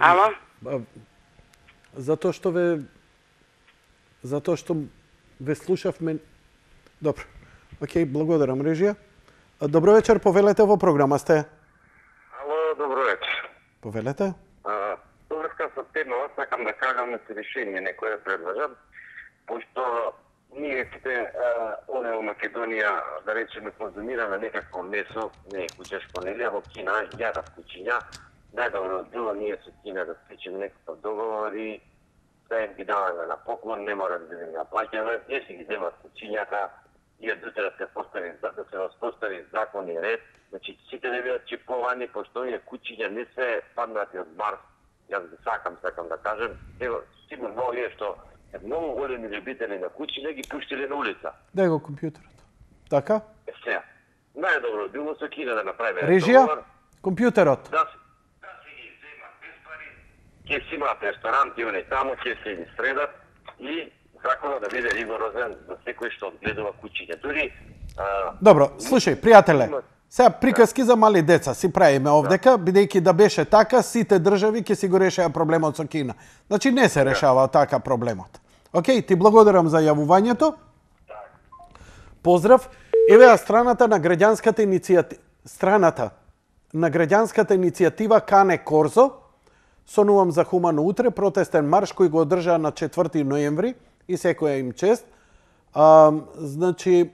Speaker 14: Ало?
Speaker 1: Затоа што ве слушавме. Добро. Океј, благодарам, режија. Добро вечер, повелете, во програма сте.
Speaker 6: Ало, добро вечер.
Speaker 1: Повелете.
Speaker 6: Поврска со темава, сакам да кажам на решение некоја предложам, пошто ние сите овде во Македонија, да речеме, конзумираме некакво месо, не е кучешко нелија, во Кина јадат кучиња, најдобро било ние со Кина да склучиме некаков договор и да им ги даваме на поклон, не мора да ги наплаќаме, не си ги земат кучињата, и од утре да се воспостави закон и ред, значи сите не бидат чиповани, пошто овие кучиња не се паднати од Марс. Јас ги сакам да кажем, ево, сигурно овие што многу големи любители на кучиња ги пуштиле на улица.
Speaker 1: Дај го компјутерот. Така?
Speaker 6: Сега, најдобро било со Кина да направиме
Speaker 1: режија,
Speaker 6: договор.
Speaker 1: компјутерот.
Speaker 6: Да си ги земат без пари, ќе си имаат ресторанти, они таму, ќе се ги средат и законот да биде ригорозен за секој што одгледува кучиња. Дури
Speaker 1: Добро, слушај, пријателе, сега приказки за мали деца си правиме овдека, бидејќи да беше така, сите држави ќе си го решеа проблемот со Кина. Значи не се решава така проблемот. Океј, ти благодарам за јавувањето. Поздрав. Еве ја страната на граѓанската иницијатива Кане Корзо, сонувам за хумано утре, протестен марш кој го одржаа на 4 ноември и секоја им чест. Значи,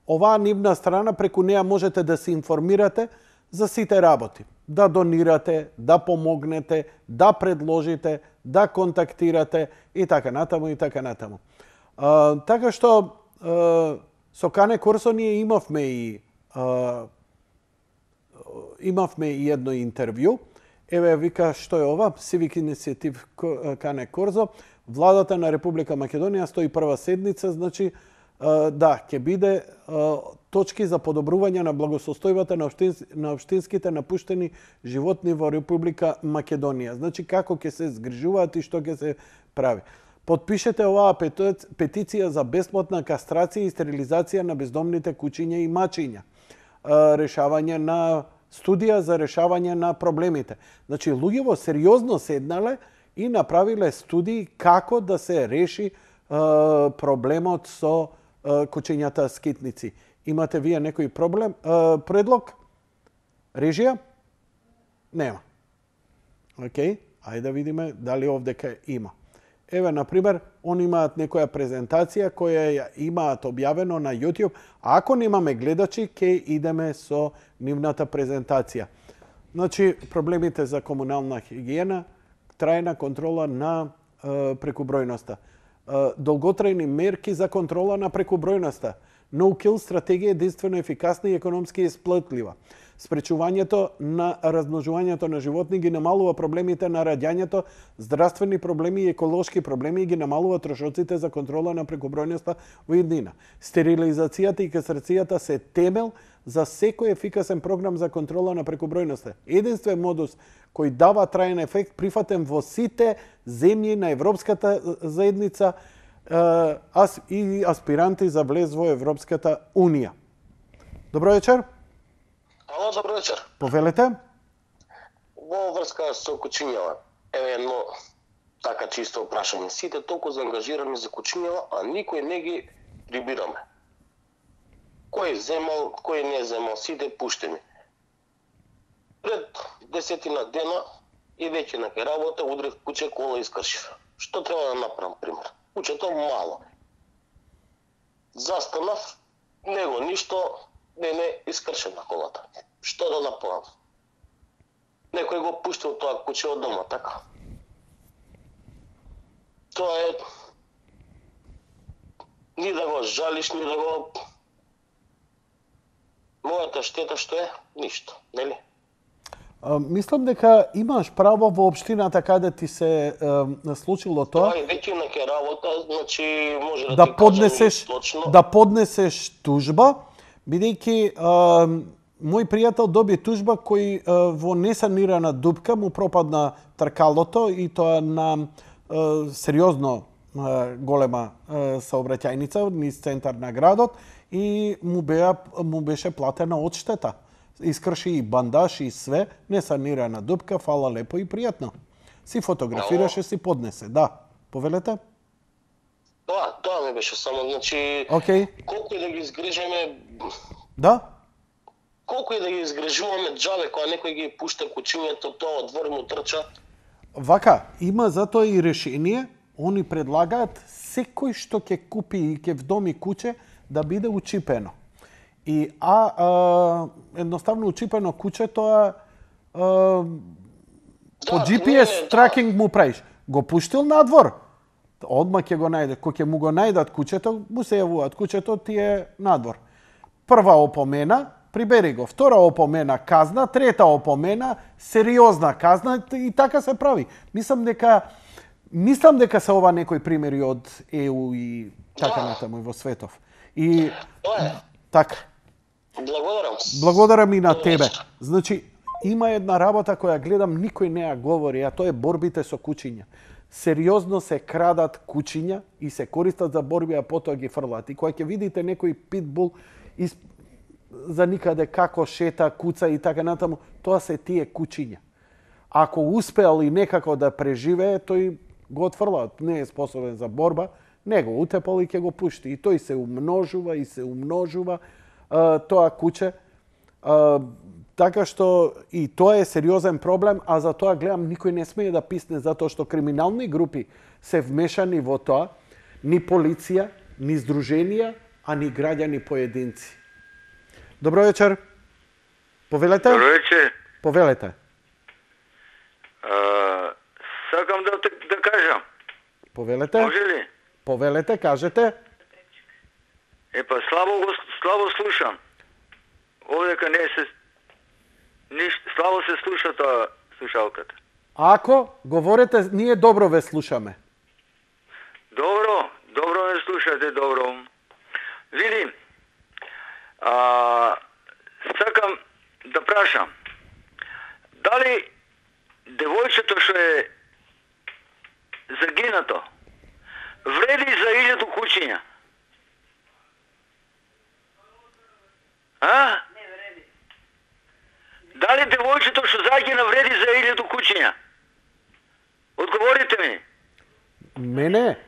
Speaker 1: оваа нивна страна, преку неа можете да се информирате за сите работи. Да донирате, да помогнете, да предложите, да контактирате и така натаму и така натаму. Така што со Кане Корсо ние имавме и едно интервју. Еве вика што е ова, Civic Initiative Кане Корзо. Владата на Република Македонија 101 седница, значи да, ќе биде точки за подобрување на благосостојбата на општинските напуштени животни во Република Македонија. Значи како ќе се згрижуваат и што ќе се прави. Потпишете оваа петиција за бесплатна кастрација и стерилизација на бездомните кучиња и мачиња. Решавање на студија за решавање на проблемите. Значи луѓето сериозно седнале и направиле студии како да се реши проблемот со кучињата скитници. Имате вие некој предлог? Режија? Нема. Океј, ајде да видиме дали овдека има. Еве, например, они имаат некоја презентација која ја имаат објавено на YouTube. А ако немаме гледачи, ќе идеме со нивната презентација. Значи, проблемите за комунална хигиена, трајна контрола на прекубројноста. Долготрајни мерки за контрола на прекубројноста. No-kill стратегија единствено ефикасна и економски исплатлива. Спречувањето на размножувањето на животни ги намалува проблемите на раѓањето, здравствени проблеми и еколошки проблеми и ги намалува трошоците за контрола на прекубројноста во иднина. Стерилизацијата и кастрацијата се темел за секој ефикасен програм за контрола на прекубројноста. Единствен модус кој дава траен ефект прифатен во сите земји на Европската заедница и аспиранти за влез во Европската Унија. Добро вечер.
Speaker 15: Ало, добро вечер.
Speaker 1: Повелете.
Speaker 15: Во врска со кучињава, еве едно така чисто прашање. Сите толку заангажирани за кучињава, а никој не ги прибираме. Кој земал, кој не земал, сите пуштени. Пред 10 дена и веќе на работа удрив куче, кола искршив. Што треба да направам, пример? Кучето мало. Застанав, него ништо не искршена колата. Што да направам? Некој го пуштил тоа куче од дома, така? Тоа е... Ни да го жалиш, ни да го... Мојата штета што е? Ништо, нели?
Speaker 1: Мислам дека имаш право во општината каде ти се случило тоа.
Speaker 15: Тоа е веќе нека работа, значи може
Speaker 1: да
Speaker 15: ти
Speaker 1: поднесеш
Speaker 15: кажам точно.
Speaker 1: да поднесеш тужба, бидејќи мој пријател доби тужба кој во несанирана дупка му пропадна тркалото и тоа на сериозно голема саобраќајница низ центар на градот и му беше платена одштета. Искрши и бандаж и све, несанирана дупка, фала лепо и пријатно. Си фотографираше, си поднесе, да. Повелете?
Speaker 15: Тоа ми беше само, значи, колку и да ги изгрижеме...
Speaker 1: Да?
Speaker 15: Колку и да ги изгрижуваме џабе, кога некој ги пушта кучињето, тоа од двор му трча.
Speaker 1: Вака, има затоа и решение, они предлагаат секој што ќе купи и ќе вдоми куче да биде учипено. И едноставно учипено куче тоа по GPS тракинг му правиш. Го пуштил надвор, одма ќе го најде. Кој ќе му го најдат кучето, му се јавуваат. Кучето ти е надвор. Прва опомена, прибери го. Втора опомена, казна. Трета опомена, сериозна казна. И така се прави. Мислам дека се ова некои примери од ЕУ и така натаму во светов. И така. Благодарам и на тебе. Значи, има една работа која гледам, никој не ја говори, а тоа е борбите со кучиња. Сериозно се крадат кучиња и се користат за борби, а потоа ги фрлат. И кога ќе видите некој питбул за никаде како шета, куца и така натаму, тоа се тие кучиња. Ако успеал и некако да преживее, тој го отфрлаат. Не е способен за борба, не го утепал и ќе го пушти. И тој се умножува и се умножува тоа куче. Така што и тоа е сериозен проблем, а за тоа гледам никој не смее да писне затоа што криминални групи се вмешани во тоа, ни полиција, ни здруженија, а ни граѓани поединци. Добро вечер. Повелете?
Speaker 16: Добро вечер.
Speaker 1: Повелете.
Speaker 16: Сакам да кажам.
Speaker 1: Повелете?
Speaker 16: Може ли?
Speaker 1: Повелете, кажете.
Speaker 16: Слабо слушам. Овдека не се... слабо се слуша тоа слушалката.
Speaker 1: Ако говорите, ние добро ве слушаме.
Speaker 16: Добро ме слушате, добро. Види, сакам да прашам, дали девојчето што е загинато вреди за 1000 кучиња? Не вреди. Дали девојчето што загина вреди за 1000 кучиња? Одговорите ми.
Speaker 1: Мене?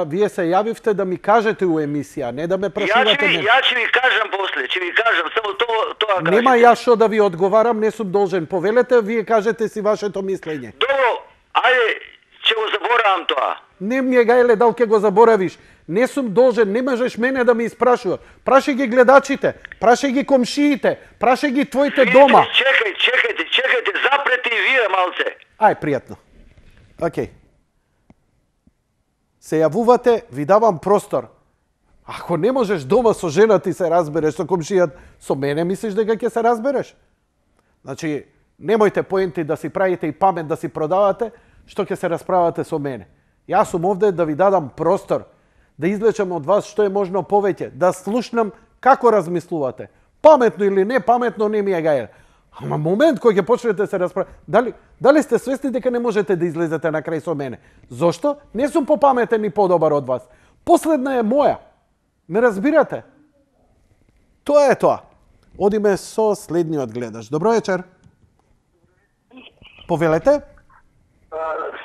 Speaker 1: Вие се јавивте да ми кажете у емисија, не да ме прашувате мене.
Speaker 16: Ја ќе ви кажам после, само тоа кажете.
Speaker 1: Нема ја што да ви одговарам, не сум должен. Повелете, вие кажете си вашето мислење.
Speaker 16: Добро, ајде, ќе го заборавам тоа.
Speaker 1: Не ми е гајле дал ќе го заборавиш. Не сум должен, не можеш мене да ме испрашува. Прашај ги гледачите, прашај ги комшиите, прашај ги твоите дома.
Speaker 16: Чекајте, запрете и вие малце.
Speaker 1: Ај, пријатно. Океј. Се јавувате, ви давам простор. Ако не можеш дома со жена ти се разбереш, со комшијат, со мене мислиш дека ќе се разбереш? Значи, немојте поенти да си правите и памет да си продавате, што ќе се расправате со мене. Јас сум овде да ви дадам простор, да извлечам од вас што е можно повеќе, да слушнам како размислувате. Паметно или не паметно не ми е гајле. Ама момент кој ќе почнете да се расправите, дали сте свесни дека не можете да излезете на крај со мене? Зошто? Не сум попаметен и подобар од вас. Последна е моја. Ме разбирате? Тоа е тоа. Одиме со следниот гледач. Добро вечер. Повелете?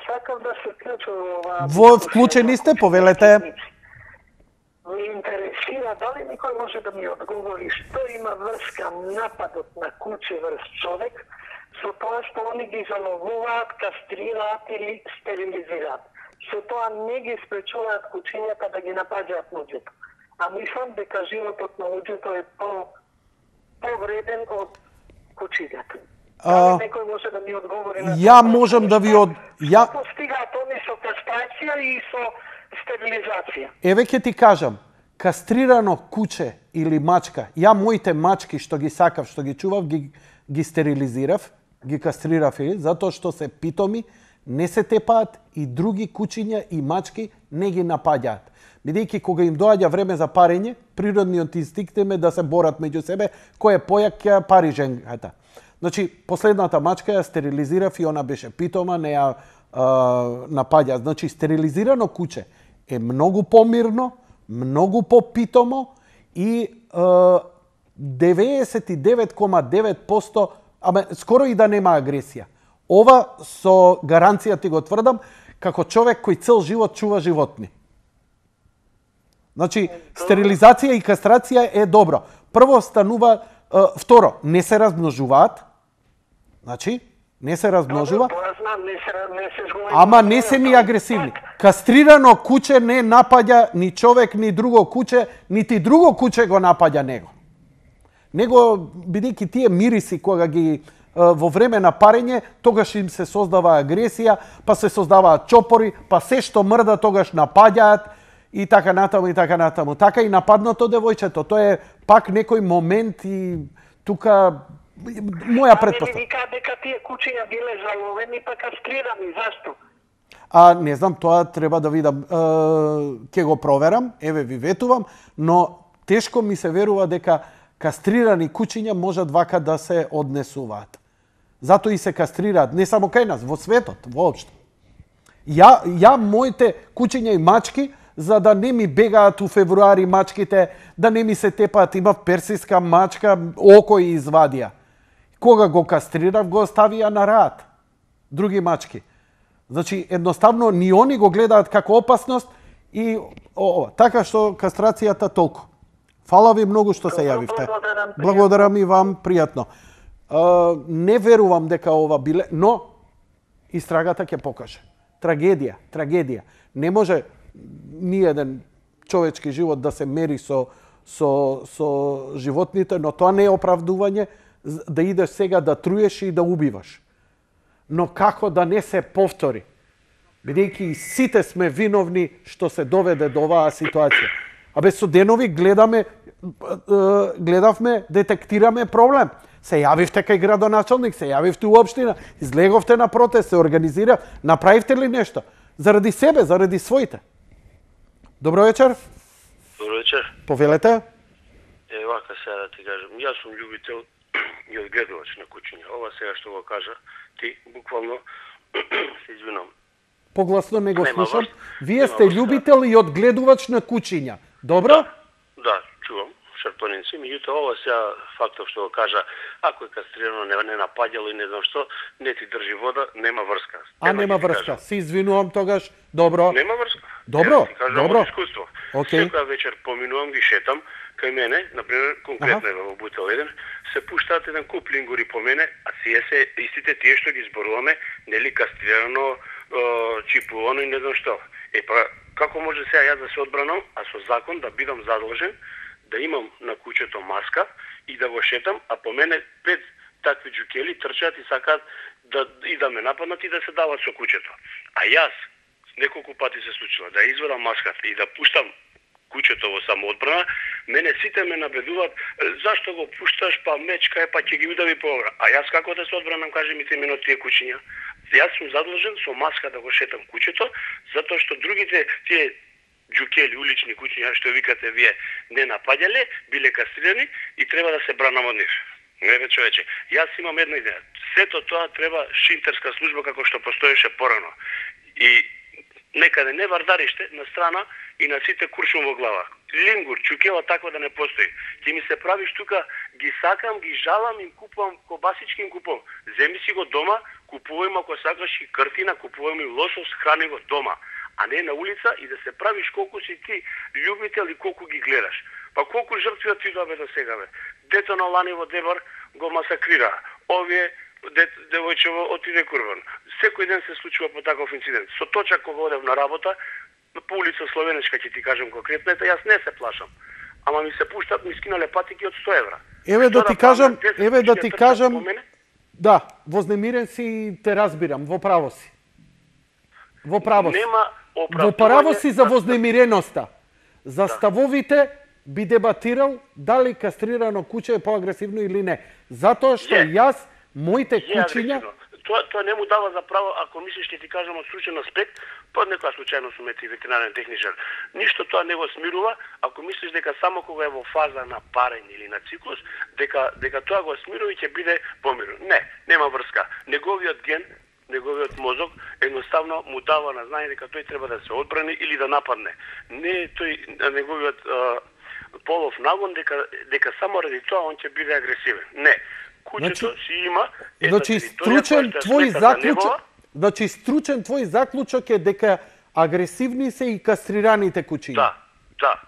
Speaker 13: Сакам да се вклучам
Speaker 1: во вклучени сте, повелете.
Speaker 13: Ме интересира дали никој може да ми одговори што има врска нападот на куче врз човек со тоа што они ги заловуваат, кастрираат или стерилизираат. Со тоа не ги спречуваат кучињата да ги напаѓаат луѓето. А мислам дека животот на луѓето е повреден од кучињата. Дали некој може да ми одговори на
Speaker 1: ја можам да ви
Speaker 13: Што постигаат они со кастрација и со стерилизација?
Speaker 1: Еве ќе ти кажам. кастрирано куче или мачка, ја моите мачки што ги сакав, што ги чував, ги стерилизирав, ги кастрирав, затоа што се питоми, не се тепаат и други кучиња и мачки не ги напаѓаат. Бидејќи кога им доаѓа време за парење, природниот инстинкт им е да се борат меѓу себе, кој е појак ќе пари женката. Значи, последната мачка ја стерилизирав и она беше питома, не ја напаѓа. Значи, стерилизирано куче е многу помирно, многу попитомо и 99,9%, скоро и да нема агресија. Ова со гаранција ти го тврдам, како човек кој цел живот чува животни. Значи, стерилизација и кастрација е добро. Прво станува, второ, не се размножуваат. Значи, не се размножува. Ама не се ни агресивни. Кастрирано куче не напаѓа ни човек, ни друго куче, нити друго куче го напаѓа него. Него, бидејќи тие мириси кога ги во време на парење, тогаш им се создава агресија, па се создаваат чопори, па се што мрда тогаш напаѓаат и така натаму и така натаму. Така и нападното девојчето, тоа е пак некој момент и тука моја претпоставка.
Speaker 13: Ами викаат дека тие кучиња биле заловени па кастрирани, зашто?
Speaker 1: Не знам, тоа треба да видам. Ќе го проверам, еве ви ветувам, но тешко ми се верува дека кастрирани кучиња можат вака да се однесуваат. Затоа и се кастрираат, не само кај нас, во светот, воопшто. Ја моите кучиња и мачки, за да не ми бегаат у февруари мачките, да не ми се тепаат, имав персиска мачка, око и извадија. Кога го кастрирав, го оставија на раат. Други мачки. Значи, едноставно, ни они го гледаат како опасност и така што кастрацијата толку. Фала ви многу што се јавивте. Благодарам и вам, пријатно. Не верувам дека ова биле, но истрагата ќе покаже. Трагедија. Не може ниеден човечки живот да се мери со животните, но тоа не е оправдување да идеш сега да труеш и да убиваш. Но како да не се повтори? Бидејќи сите сме виновни што се доведе до оваа ситуација. Со денови гледавме, детектираме проблем. Се јавивте кај градоначалник, се јавивте у општина, излеговте на протест, се организира, направивте ли нешто? Заради себе, заради своите. Добро вечер.
Speaker 17: Добро вечер.
Speaker 1: Повелете.
Speaker 17: Вака сега да ти кажам, јас сум љубител и одгледувач на кучиња. Ова сега што го кажа, ти буквално се извинам.
Speaker 1: Погласно не го слушам. Вие сте љубител и одгледувач на кучиња. Добро?
Speaker 17: Да, чувам шарпаници, меѓутоа ова сега фактот што го кажа, ако е кастрирано, не напаѓало и не знам што, не ти држи вода, нема врска.
Speaker 1: Нема врска. Се извинувам тогаш. Добро.
Speaker 17: Нема врска.
Speaker 1: Добро.
Speaker 17: Добро. Искуство. Секоја вечер поминувам, ги шетам, кај мене, например, конкретно во Бутел 1, се пуштаат еден куп лингури по мене, а сие се истите тие што ги зборуваме, нели кастрирано, чипувано и не знам што. Како може сега јас да се одбранам, а со закон да бидам задолжен да имам на кучето маска и да го шетам, а по мене 5 такви џукели трчаат и сакаат да ме нападнат и да се дават со кучето. А јас неколку пати се случило да извадам маската и да пуштам кучето во самоодбрана, мене сите ме набедуваат, зашто го пушташ, па мечка е, па ќе ги удави по обра. А јас како да се одбранам, кажи ми имено тие кучиња. Јас сум задолжен со маска да го шетам кучето, затоа што другите тие џукели, улични кучиња, што викате вие, не напаѓале, биле кастрирани и треба да се бранам од нив. Не бе човече, јас имам една идеја. Сето тоа треба шинтерска служба како што постоеше порано. И некаде не вардариште на страна и на сите куршум во глава. Лингур, чукела таква да не постои. Ти ми се правиш тука, ги сакам, ги жалам, им купувам кобасички, им купувам. Земи си го дома, купувај ако сакаш и картина, купувај и лосос, храни го дома, а не на улица и да се правиш колку си ти љубител и колку ги гледаш. Па колку жртви ти добе до сега бе. Дето на Лани во Дебар го масакрира. Овие девојчево отиде курбан. Секој ден се случува по таков инцидент. Со точак кога одев на работа, по улица Словенечка ќе ти кажам конкретно, јас не се плашам. Ама ми се пуштат, ми скинале патики од 100 евра.
Speaker 1: Еве да ти кажам, да, вознемирен си и те разбирам, во право си. Во право си.
Speaker 17: Нема
Speaker 1: Во право си за вознемиреноста. За ставовите би дебатирал дали кастрирано куче е поагресивно или не. Затоа што јас, моите кучиња...
Speaker 17: Тоа не му дава за право, ако мислиш, ќе ти кажам од случаен аспект, под некоја случајно сум и ветеринарен техничар. Ништо тоа не го смирува, ако мислиш дека само кога е во фаза на парење или на циклус, дека тоа го смирува и ќе биде помирно. Не, нема врска. Неговиот ген, неговиот мозок едноставно му дава на знање дека тој треба да се одбрани или да нападне. Не тој неговиот полов нагон дека само ради тоа он ќе биде агресивен. Не. Кучето си има
Speaker 1: стручен твој заклучок е дека агресивни се и кастрираните кучиња.
Speaker 17: Да.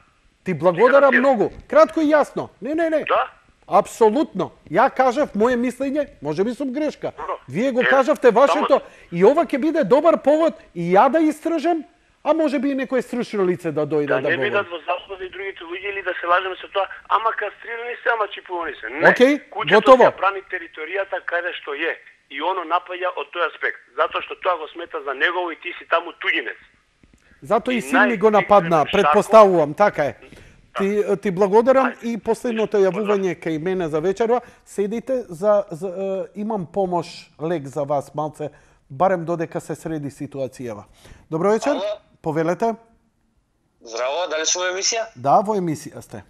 Speaker 1: Ти благодарам многу. Кратко и јасно. Не.
Speaker 17: Да.
Speaker 1: Апсолутно. Ја кажав моје мислење, можеби сум грешка. Вие го кажавте вашето и ова ќе биде добар повод и ја да истражам, а можеби и некој стручно лице да дојде да говори.
Speaker 17: Да не бидат во заблуда и другите луѓе или да се лажеме со тоа, ама кастрирани се, ама чипувани се. Не.
Speaker 1: Океј,
Speaker 17: Кучето
Speaker 1: готово.
Speaker 17: ќе брани територијата каде што е и оно напаѓа од тој аспект, затоа што тоа го смета за негово и ти си таму туѓинец.
Speaker 1: Зато и син ми го нападна, предпоставувам, така е. Ти благодарам и последното јавување кај мене за вечерва. Седите, имам помош лек за вас малце, барем додека се среди ситуацијава. Добро вечер, повелете.
Speaker 18: Здраво, дали сум во емисија?
Speaker 1: Да, во емисија сте.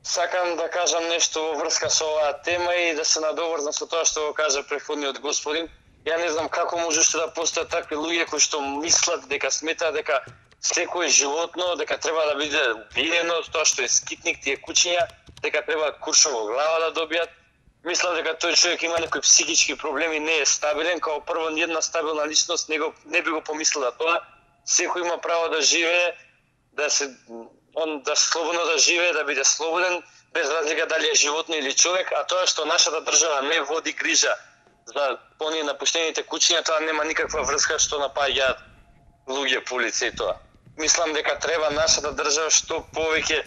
Speaker 18: Сакам да кажам нешто во врска со оваа тема и да се надоврзам со тоа што го кажа претходниот господин. Ја не знам како можеше да постојат такви луѓе кои што мислат дека сметаат дека секој животно дека треба да биде убиено, тоа што е скитник, тие кучиња, дека треба куршум во глава да добијат. Мислам дека тој човек има некои психички проблеми, не е стабилен, као прво ниједна стабилна личност не би го помислила тоа. Секој има право да живее, да слободно да живее, да биде слободен, без разлика дали е животно или човек, а тоа што нашата држава не води грижа за оние напуштените кучиња, тоа нема никаква врска што напаѓаат луѓе по улица и тоа. Мислам дека треба нашата држава што повеќе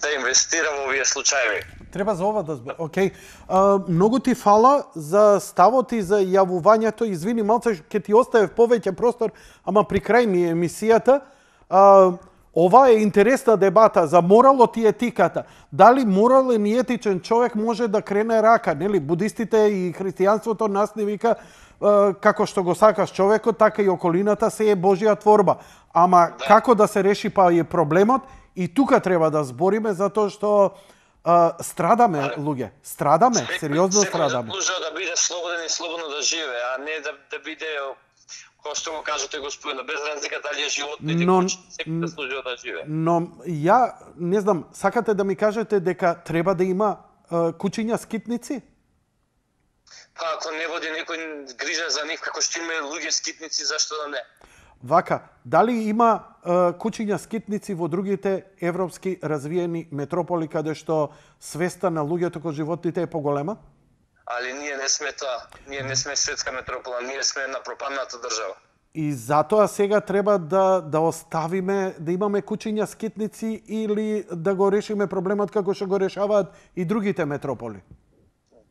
Speaker 18: да инвестира во овие случаи.
Speaker 1: Треба за ова да збор. Океј. Многу ти фала за ставот и за јавувањето. Извини, малце ќе ти оставев повеќе простор, ама при крај ми е емисијата. Ова е интересна дебата за моралот и етиката. Дали морален и етичен човек може да крене рака, нели? Будистите и христијанството нас не вика како што го сакаш човекот, така и околината се е Божја творба. Ама како да се реши па е проблемот и тука треба да збориме затоа што страдаме луѓе. Страдаме, сериозно страдаме.
Speaker 18: Секој заслужува да биде слободен и слободно да живее, а не да биде кој што го кажете господина, без разлика дали е животно или куче, секој заслужува да живее.
Speaker 1: Но ја не знам, сакате да ми кажете дека треба да има кучиња скитници?
Speaker 18: Па ако не води некој грижа за нив, како што има луѓе скитници, зашто да не?
Speaker 1: Вака, дали има кучиња скитници во другите европски развиени метрополи каде што свеста на луѓето кој животните е поголема?
Speaker 18: Али ние не сме тоа. Ние не сме светска метропола, ние сме една пропадната држава.
Speaker 1: И затоа сега треба да оставиме, да имаме кучиња скитници или да го решиме проблемот како што го решаваат и другите метрополи?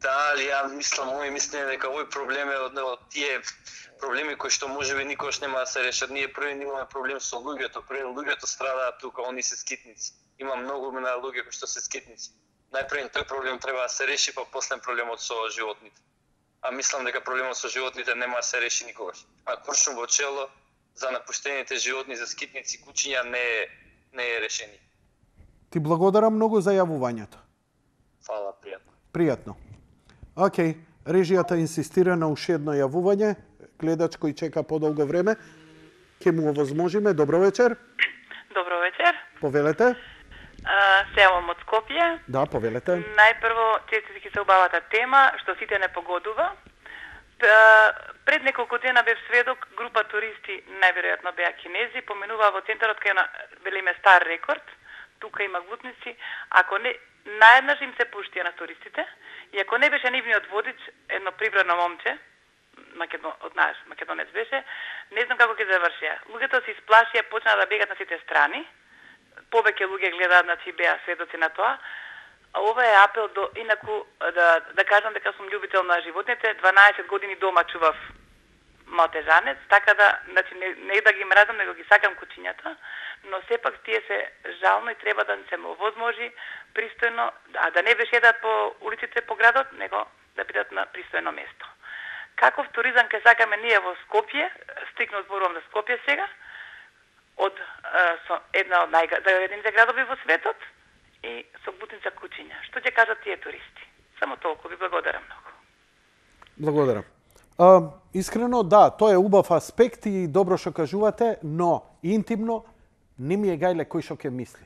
Speaker 18: Да, али ја мислам, мој мислење дека овој проблем е од тие проблеми кои што можеби никош нема да се решат. Ние први имаме проблем со луѓето, први луѓето страдаат тука, они се скитници. Има многу на луѓе кои што се скитници. Најпред тој проблем треба да се реши, па после проблемот со животните. А мислам дека проблемот со животните нема да се реши никогаш. А куршум во чело за напуштените животни, за скитници, кучиња не е решение.
Speaker 1: Ти благодарам многу за јавувањето.
Speaker 18: Фала, пријатно.
Speaker 1: Пријатно. Океј, режијата инсистира на уште едно јавување. Гледач кој чека подолго време. Ке му овозможиме. Добро вечер.
Speaker 19: Добро вечер.
Speaker 1: Повелете.
Speaker 19: Се јавам од Скопје.
Speaker 1: Да, повелете.
Speaker 19: Најпрво, честитки за убавата тема, што сите не погодува. Пред неколку дена бев сведок, група туристи, најверојатно беа кинези, поминуваа во центарот кај на велиме стар рекорд. Тука има глутници. Ако не, наеднаш им се пуштија на туристите. И ако не беше нивниот водич, едно прибрано момче, од наш македонец беше, не знам како ќе завршија. Луѓето се исплашија, почнаа да бегат на сите страни. Повеќе луѓе гледаат, значи беа сведоци на тоа. А ова е апел до инаку да кажам дека сум љубител на животните. 12 години дома чував малтежанец, така да, значи, не да ги мразам, него ги сакам кучињата, но сепак тие се жално и треба да се му возможи пристојно, да не бешедат по улиците по градот, него да бидат на пристојно место. Каков туризам ке сакаме ние во Скопје, стрикно зборувам за Скопје сега, од една од најзагадените градови во светот и со бутница кучиња. Што ќе кажат тие туристи? Само толку, ви благодарам многу.
Speaker 1: Благодарам. Искрено, да, тоа е убав аспект и добро што кажувате, но интимно не ми е гајле кој што ќе мисли.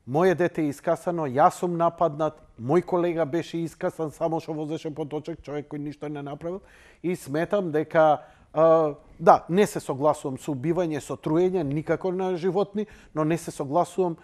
Speaker 1: Моje дете е искасано, јас сум нападнат, мој колега беше искасан само што возеше поточек, човек кој ништо не направил, и сметам дека да, не се согласувам со убивање, со труење, никако на животни, но не се согласувам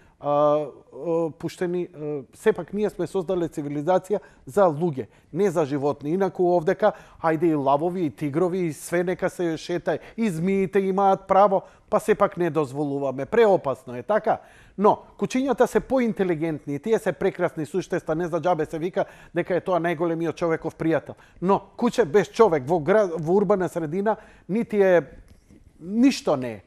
Speaker 1: пуштени, сепак ние сме создале цивилизација за луѓе, не за животни. Инаку овдека, ајде и лавови, и тигрови, и све нека се шетај, и змиите имаат право, па сепак не дозволуваме. Преопасно е, така? Но, кучињата се поинтелигентни, тие се прекрасни суштества, не за џабе се вика дека е тоа најголемиот човеков пријател. Но, куче без човек во урбана средина, нити е, ништо не е.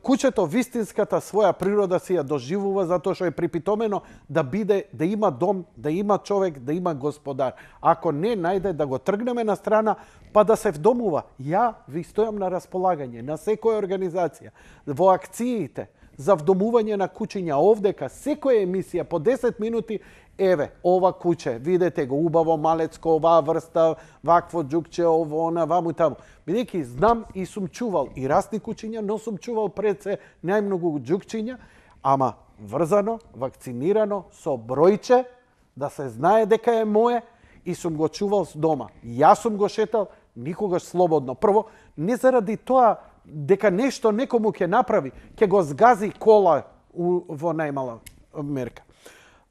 Speaker 1: Кучето вистинската своја природа си ја доживува затоа што е припитомено да биде, да има дом, да има човек, да има господар. Ако не најде да го тргнеме на страна, па да се вдомува. Ја ви стојам на располагање на секоја организација, во акциите за вдомување на кучиња овдека, секоја емисија по 10 минути, еве, ова куче, видете го, убаво, малецко, оваа врста, вакво џукче, ово, она, ваму и таму. Бидејќи знам и сум чувал и расни кучиња, но сум чувал пред се најмногу џукчиња, ама врзано, вакцинирано, со бројче, да се знае дека е мое, и сум го чувал с дома. Јас сум го шетал, никогаш слободно. Прво, не заради тоа дека нешто некому ќе направи, ќе го згази кола во најмала мерка.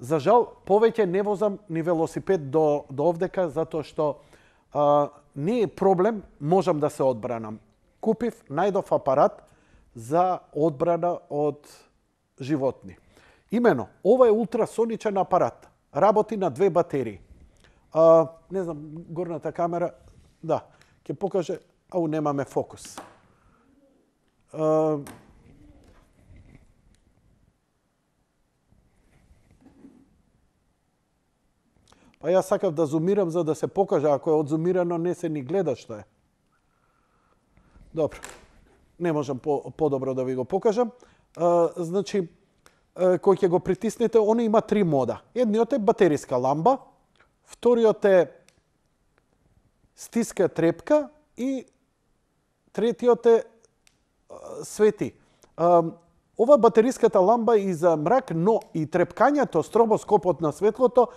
Speaker 1: За жал, повеќе не возам ни велосипед до овдека, затоа што не е проблем, можам да се одбранам. Купив, најдов апарат за одбрана од животни. Имено, ова е ултрасоничен апарат. Работи на 2 батерии. Не знам, горната камера, да, ќе покаже, ау немаме фокус. Па јас сакав да зумирам за да се покаже, ако е одзумирано не се ни гледа што е. Добро, не можам подобро да ви го покажам. Значи, кој ќе го притиснете, оно има 3 мода. Едниот е батериска ламба, вториот е стиска трепка и третиот е свети. Ова батериската ламба и за мрак, но и трепкањето, стробоскопот на светлото,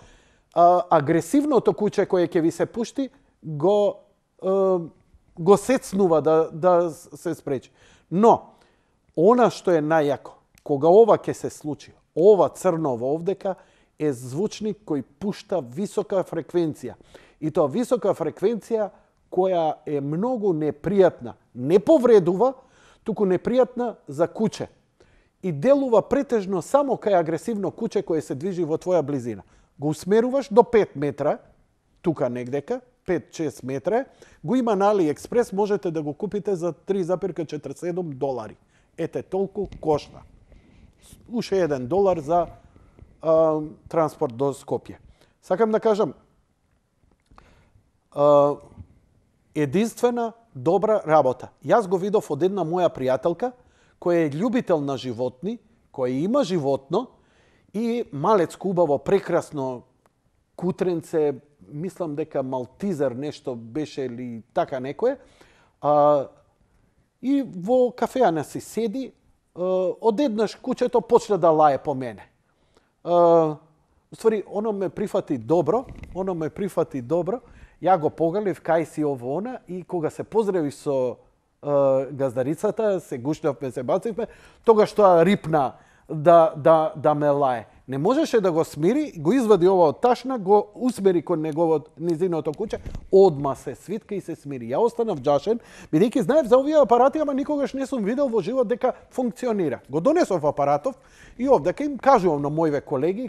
Speaker 1: агресивното куче кое ќе ви се пушти, го сецнува да се спречи. Но, она што е најако, кога ова ќе се случи, ова црново овдека е звучник кој пушта висока фреквенција. И тоа висока фреквенција која е многу непријатна. Не повредува, туку непријатна за куче. И делува претежно само кај агресивно куче кое се движи во твоја близина. Го усмеруваш до 5 метра, тука негдека, 5-6 метра, го има на AliExpress, можете да го купите за $3,47. Ете, толку кошта. Уште $1 за транспорт до Скопје. Сакам да кажам, единствена добра работа. Јас го видов од една моја пријателка, која е љубител на животни, која има животно, и малецко, убаво, прекрасно кутренце, мислам дека малтизер нешто беше или така некое, и во кафеана си седи, одеднаш кучето почна да лае по мене. Уствари, оно ме прифати добро, ја го погалив кај си ово она, и кога се поздрави со газдарицата, се гушнавме, се бацивме, тогаш тоа рипна да ме лае. Не можеше да го смири, го извади ова од ташна, го усмери кон низиното куќе, одма се свитка и се смири. Ја останав џашен, бидејќи знаев за овие апарати, ама никогаш не сум видел во живот дека функционира. Го донесов апаратов и овдека им кажувам на моите колеги,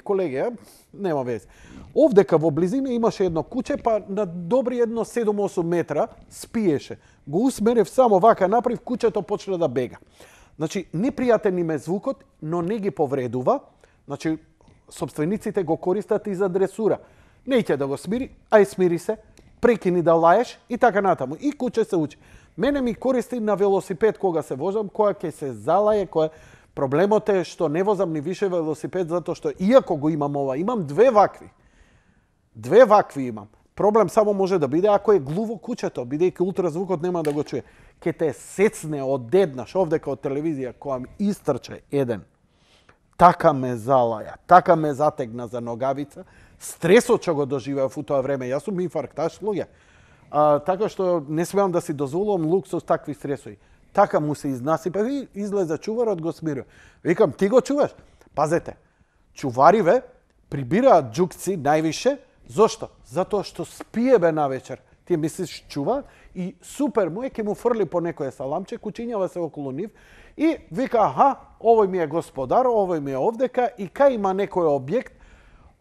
Speaker 1: нема вез. Овдека во близина имаше едно куќе, па на добри едно 7-8 метра спиеше. Го усмерев само вака направив, куќето почна да бега. Значи, непријатен им е звукот, но не ги повредува. Значи, собствениците го користат и за дресура. Не ќе да го смири, ај смири се, прекини да лаеш и така натаму. И куќе се учи. Мене ми користи на велосипед кога се возам, кога ќе се залае, кога проблемот е што не возам ни више велосипед, затоа што иако го имам ова, имам две вакви. Две вакви имам. Проблем само може да биде ако е глуво куќето, бидејќи ултразвукот нема да го чуе. Ке те сецне одеднаш овдека од телевизија, која ми истрче еден. Така ме залаја, така ме затегна за ногавица. Стресот што го доживеав у тоа време, јас сум инфаркташ луѓе. Така што не смеам да си дозволувам луксус такви стресови. Така му се изнасипа и излезе чуварот го смирува. Викам, ти го чуваш? Пазете, чувариве прибираат џукци највише. Зошто? Затоа што спие бе навечер. Ти мислиш чува и супер му е, ке му фрли по некој саламче, кучињава се околу нив и вика, аха, овој ми е господар, овој ми е овдека и кај има некој објект,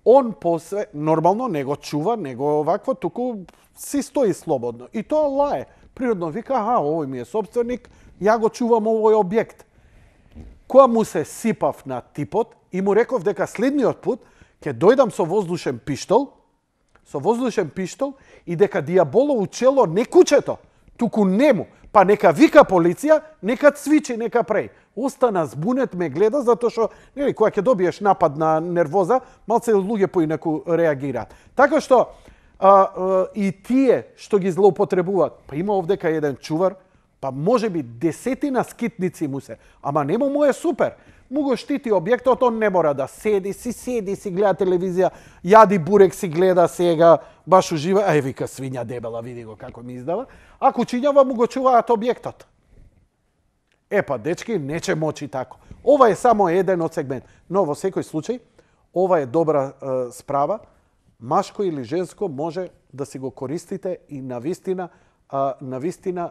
Speaker 1: он после, нормално, не го чува, не го овакво, туку си стои слободно. И тоа лае. Природно вика, аха, овој ми е собственик, ја го чувам овој објект. Која му се сипав на типот и му реков дека следниот пут ќе дојдам со воздушен пиштол, и дека дијаболо учело не куќето, туку нему, па нека вика полиција, нека цвичи, нека преј. Остана збунет, ме гледа, затоа што, нели, кога ќе добиеш напад на нервоза, малце луѓе поинаку реагираат. Така што, и тие што ги злоупотребуваат, па има овдека еден чувар, па може би 10 скитници му се, ама нему му е супер. Му го штити објектот, он не мора да седи, си гледа телевизија, јади бурек, си гледа сега, баш ужива, ај вика свиња дебела, види го како ми издава, а кучињава му го чуваат објектот. Па, дечки, не ќе мочи тако. Ова е само еден од сегмент, но во секој случај, ова е добра справа, машко или женско може да си го користите и навистина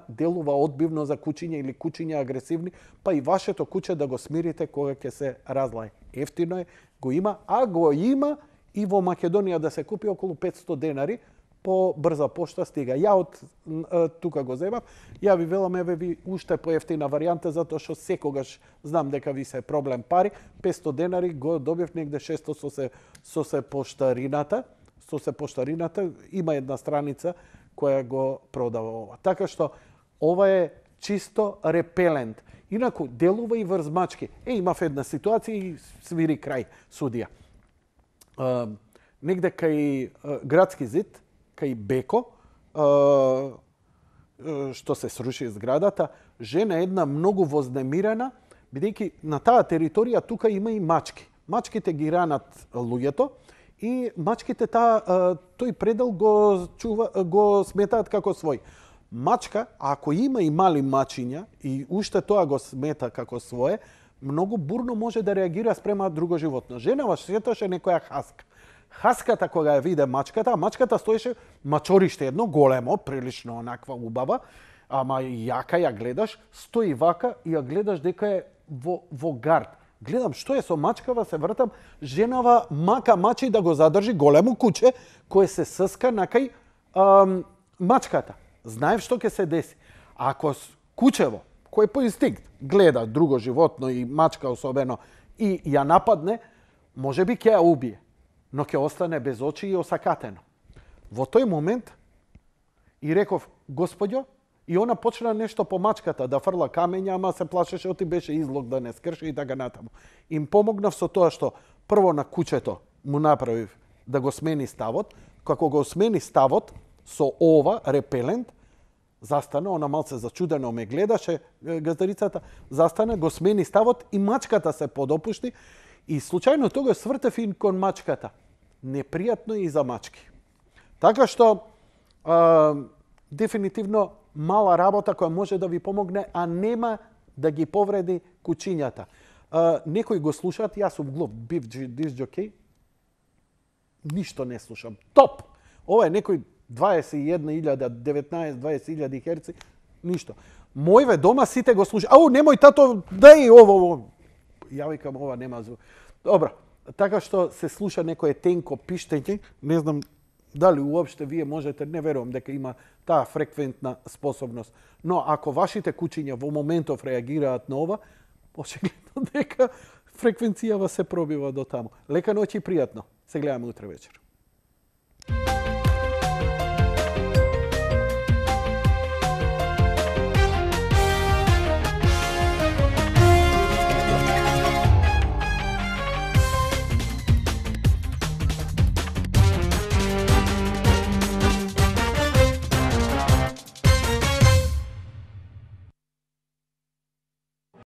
Speaker 1: делува одбивно за кучиња или кучиња агресивни, па и вашето куќе да го смирите кога ќе се разлае. Ефтино е, го има, а го има и во Македонија да се купи околу 500 денари по брза пошта стига. Ја од тука го земав, ја ви велам, еве ви уште поевтина варијанта, затоа што секогаш знам дека ви се проблем пари, 500 денари го добив негде 600 со се поштарината, има една страница која го продава ова. Така што ова е чисто репелент. Инаку делува и врз мачки. Имав една ситуација и свири крај судија. Негде кај градски зид, кај Беко, што се сруши зградата, жена една многу вознемирена, бидејќи на таа територија тука има и мачки. Мачките ги ранат луѓето, и мачките тој предел го сметаат како свој. Мачка, ако има и мали мачиња и уште тоа го смета како свое, многу бурно може да реагира спрема друго животно. Женава сеташе некоја хаска. Хаската кога ја виде мачката, мачката стоеше мачорище едно големо, прилично онаква убава, ама јака ја гледаш, стои вака и ја гледаш дека е во гард. Гледам што е со мачкава, се вртам, женава мачи да го задржи големо куќе кое се сска накај мачката. Знаев што ќе се деси. Ако кучево, кој по инстинкт гледа друго животно и мачка особено и ја нападне, може би ќе ја убие, но ќе остане без очи и осакатено. Во тој момент и реков, господјо, и она почна нешто по мачката, да фрла камења, ама се плашеше, оти беше излог да не скрши и така натаму. Им помогнав со тоа што прво на кучето му направив да го смени ставот, како го смени ставот со ова репелент, застана, она малце зачудено ме гледаше, газдарицата, застана, го смени ставот и мачката се подопушти и случајно тога свртев и кон мачката. Непријатно и за мачки. Така што, дефинитивно, мала работа која може да ви помогне, а нема да ги повреди кучињата. некои го слушаат, јас сум глуп, бив диск-джокей, ништо не слушам. Топ! Ова е некој 21.000, 19-20.000 херци, ништо. Мојве дома сите го слушаат. Ау, немој тато, дај ово. Ја викам, ова нема звук. Добро, така што се слуша некое тенко пиштење, не знам дали уопште вие можете, не верувам дека има таа фреквентна способност. Но ако вашите кучиња во моментов реагираат на ова, очигледно дека фреквенцијава се пробива до таму. Лека ноќ и пријатно. Се гледаме утре вечер.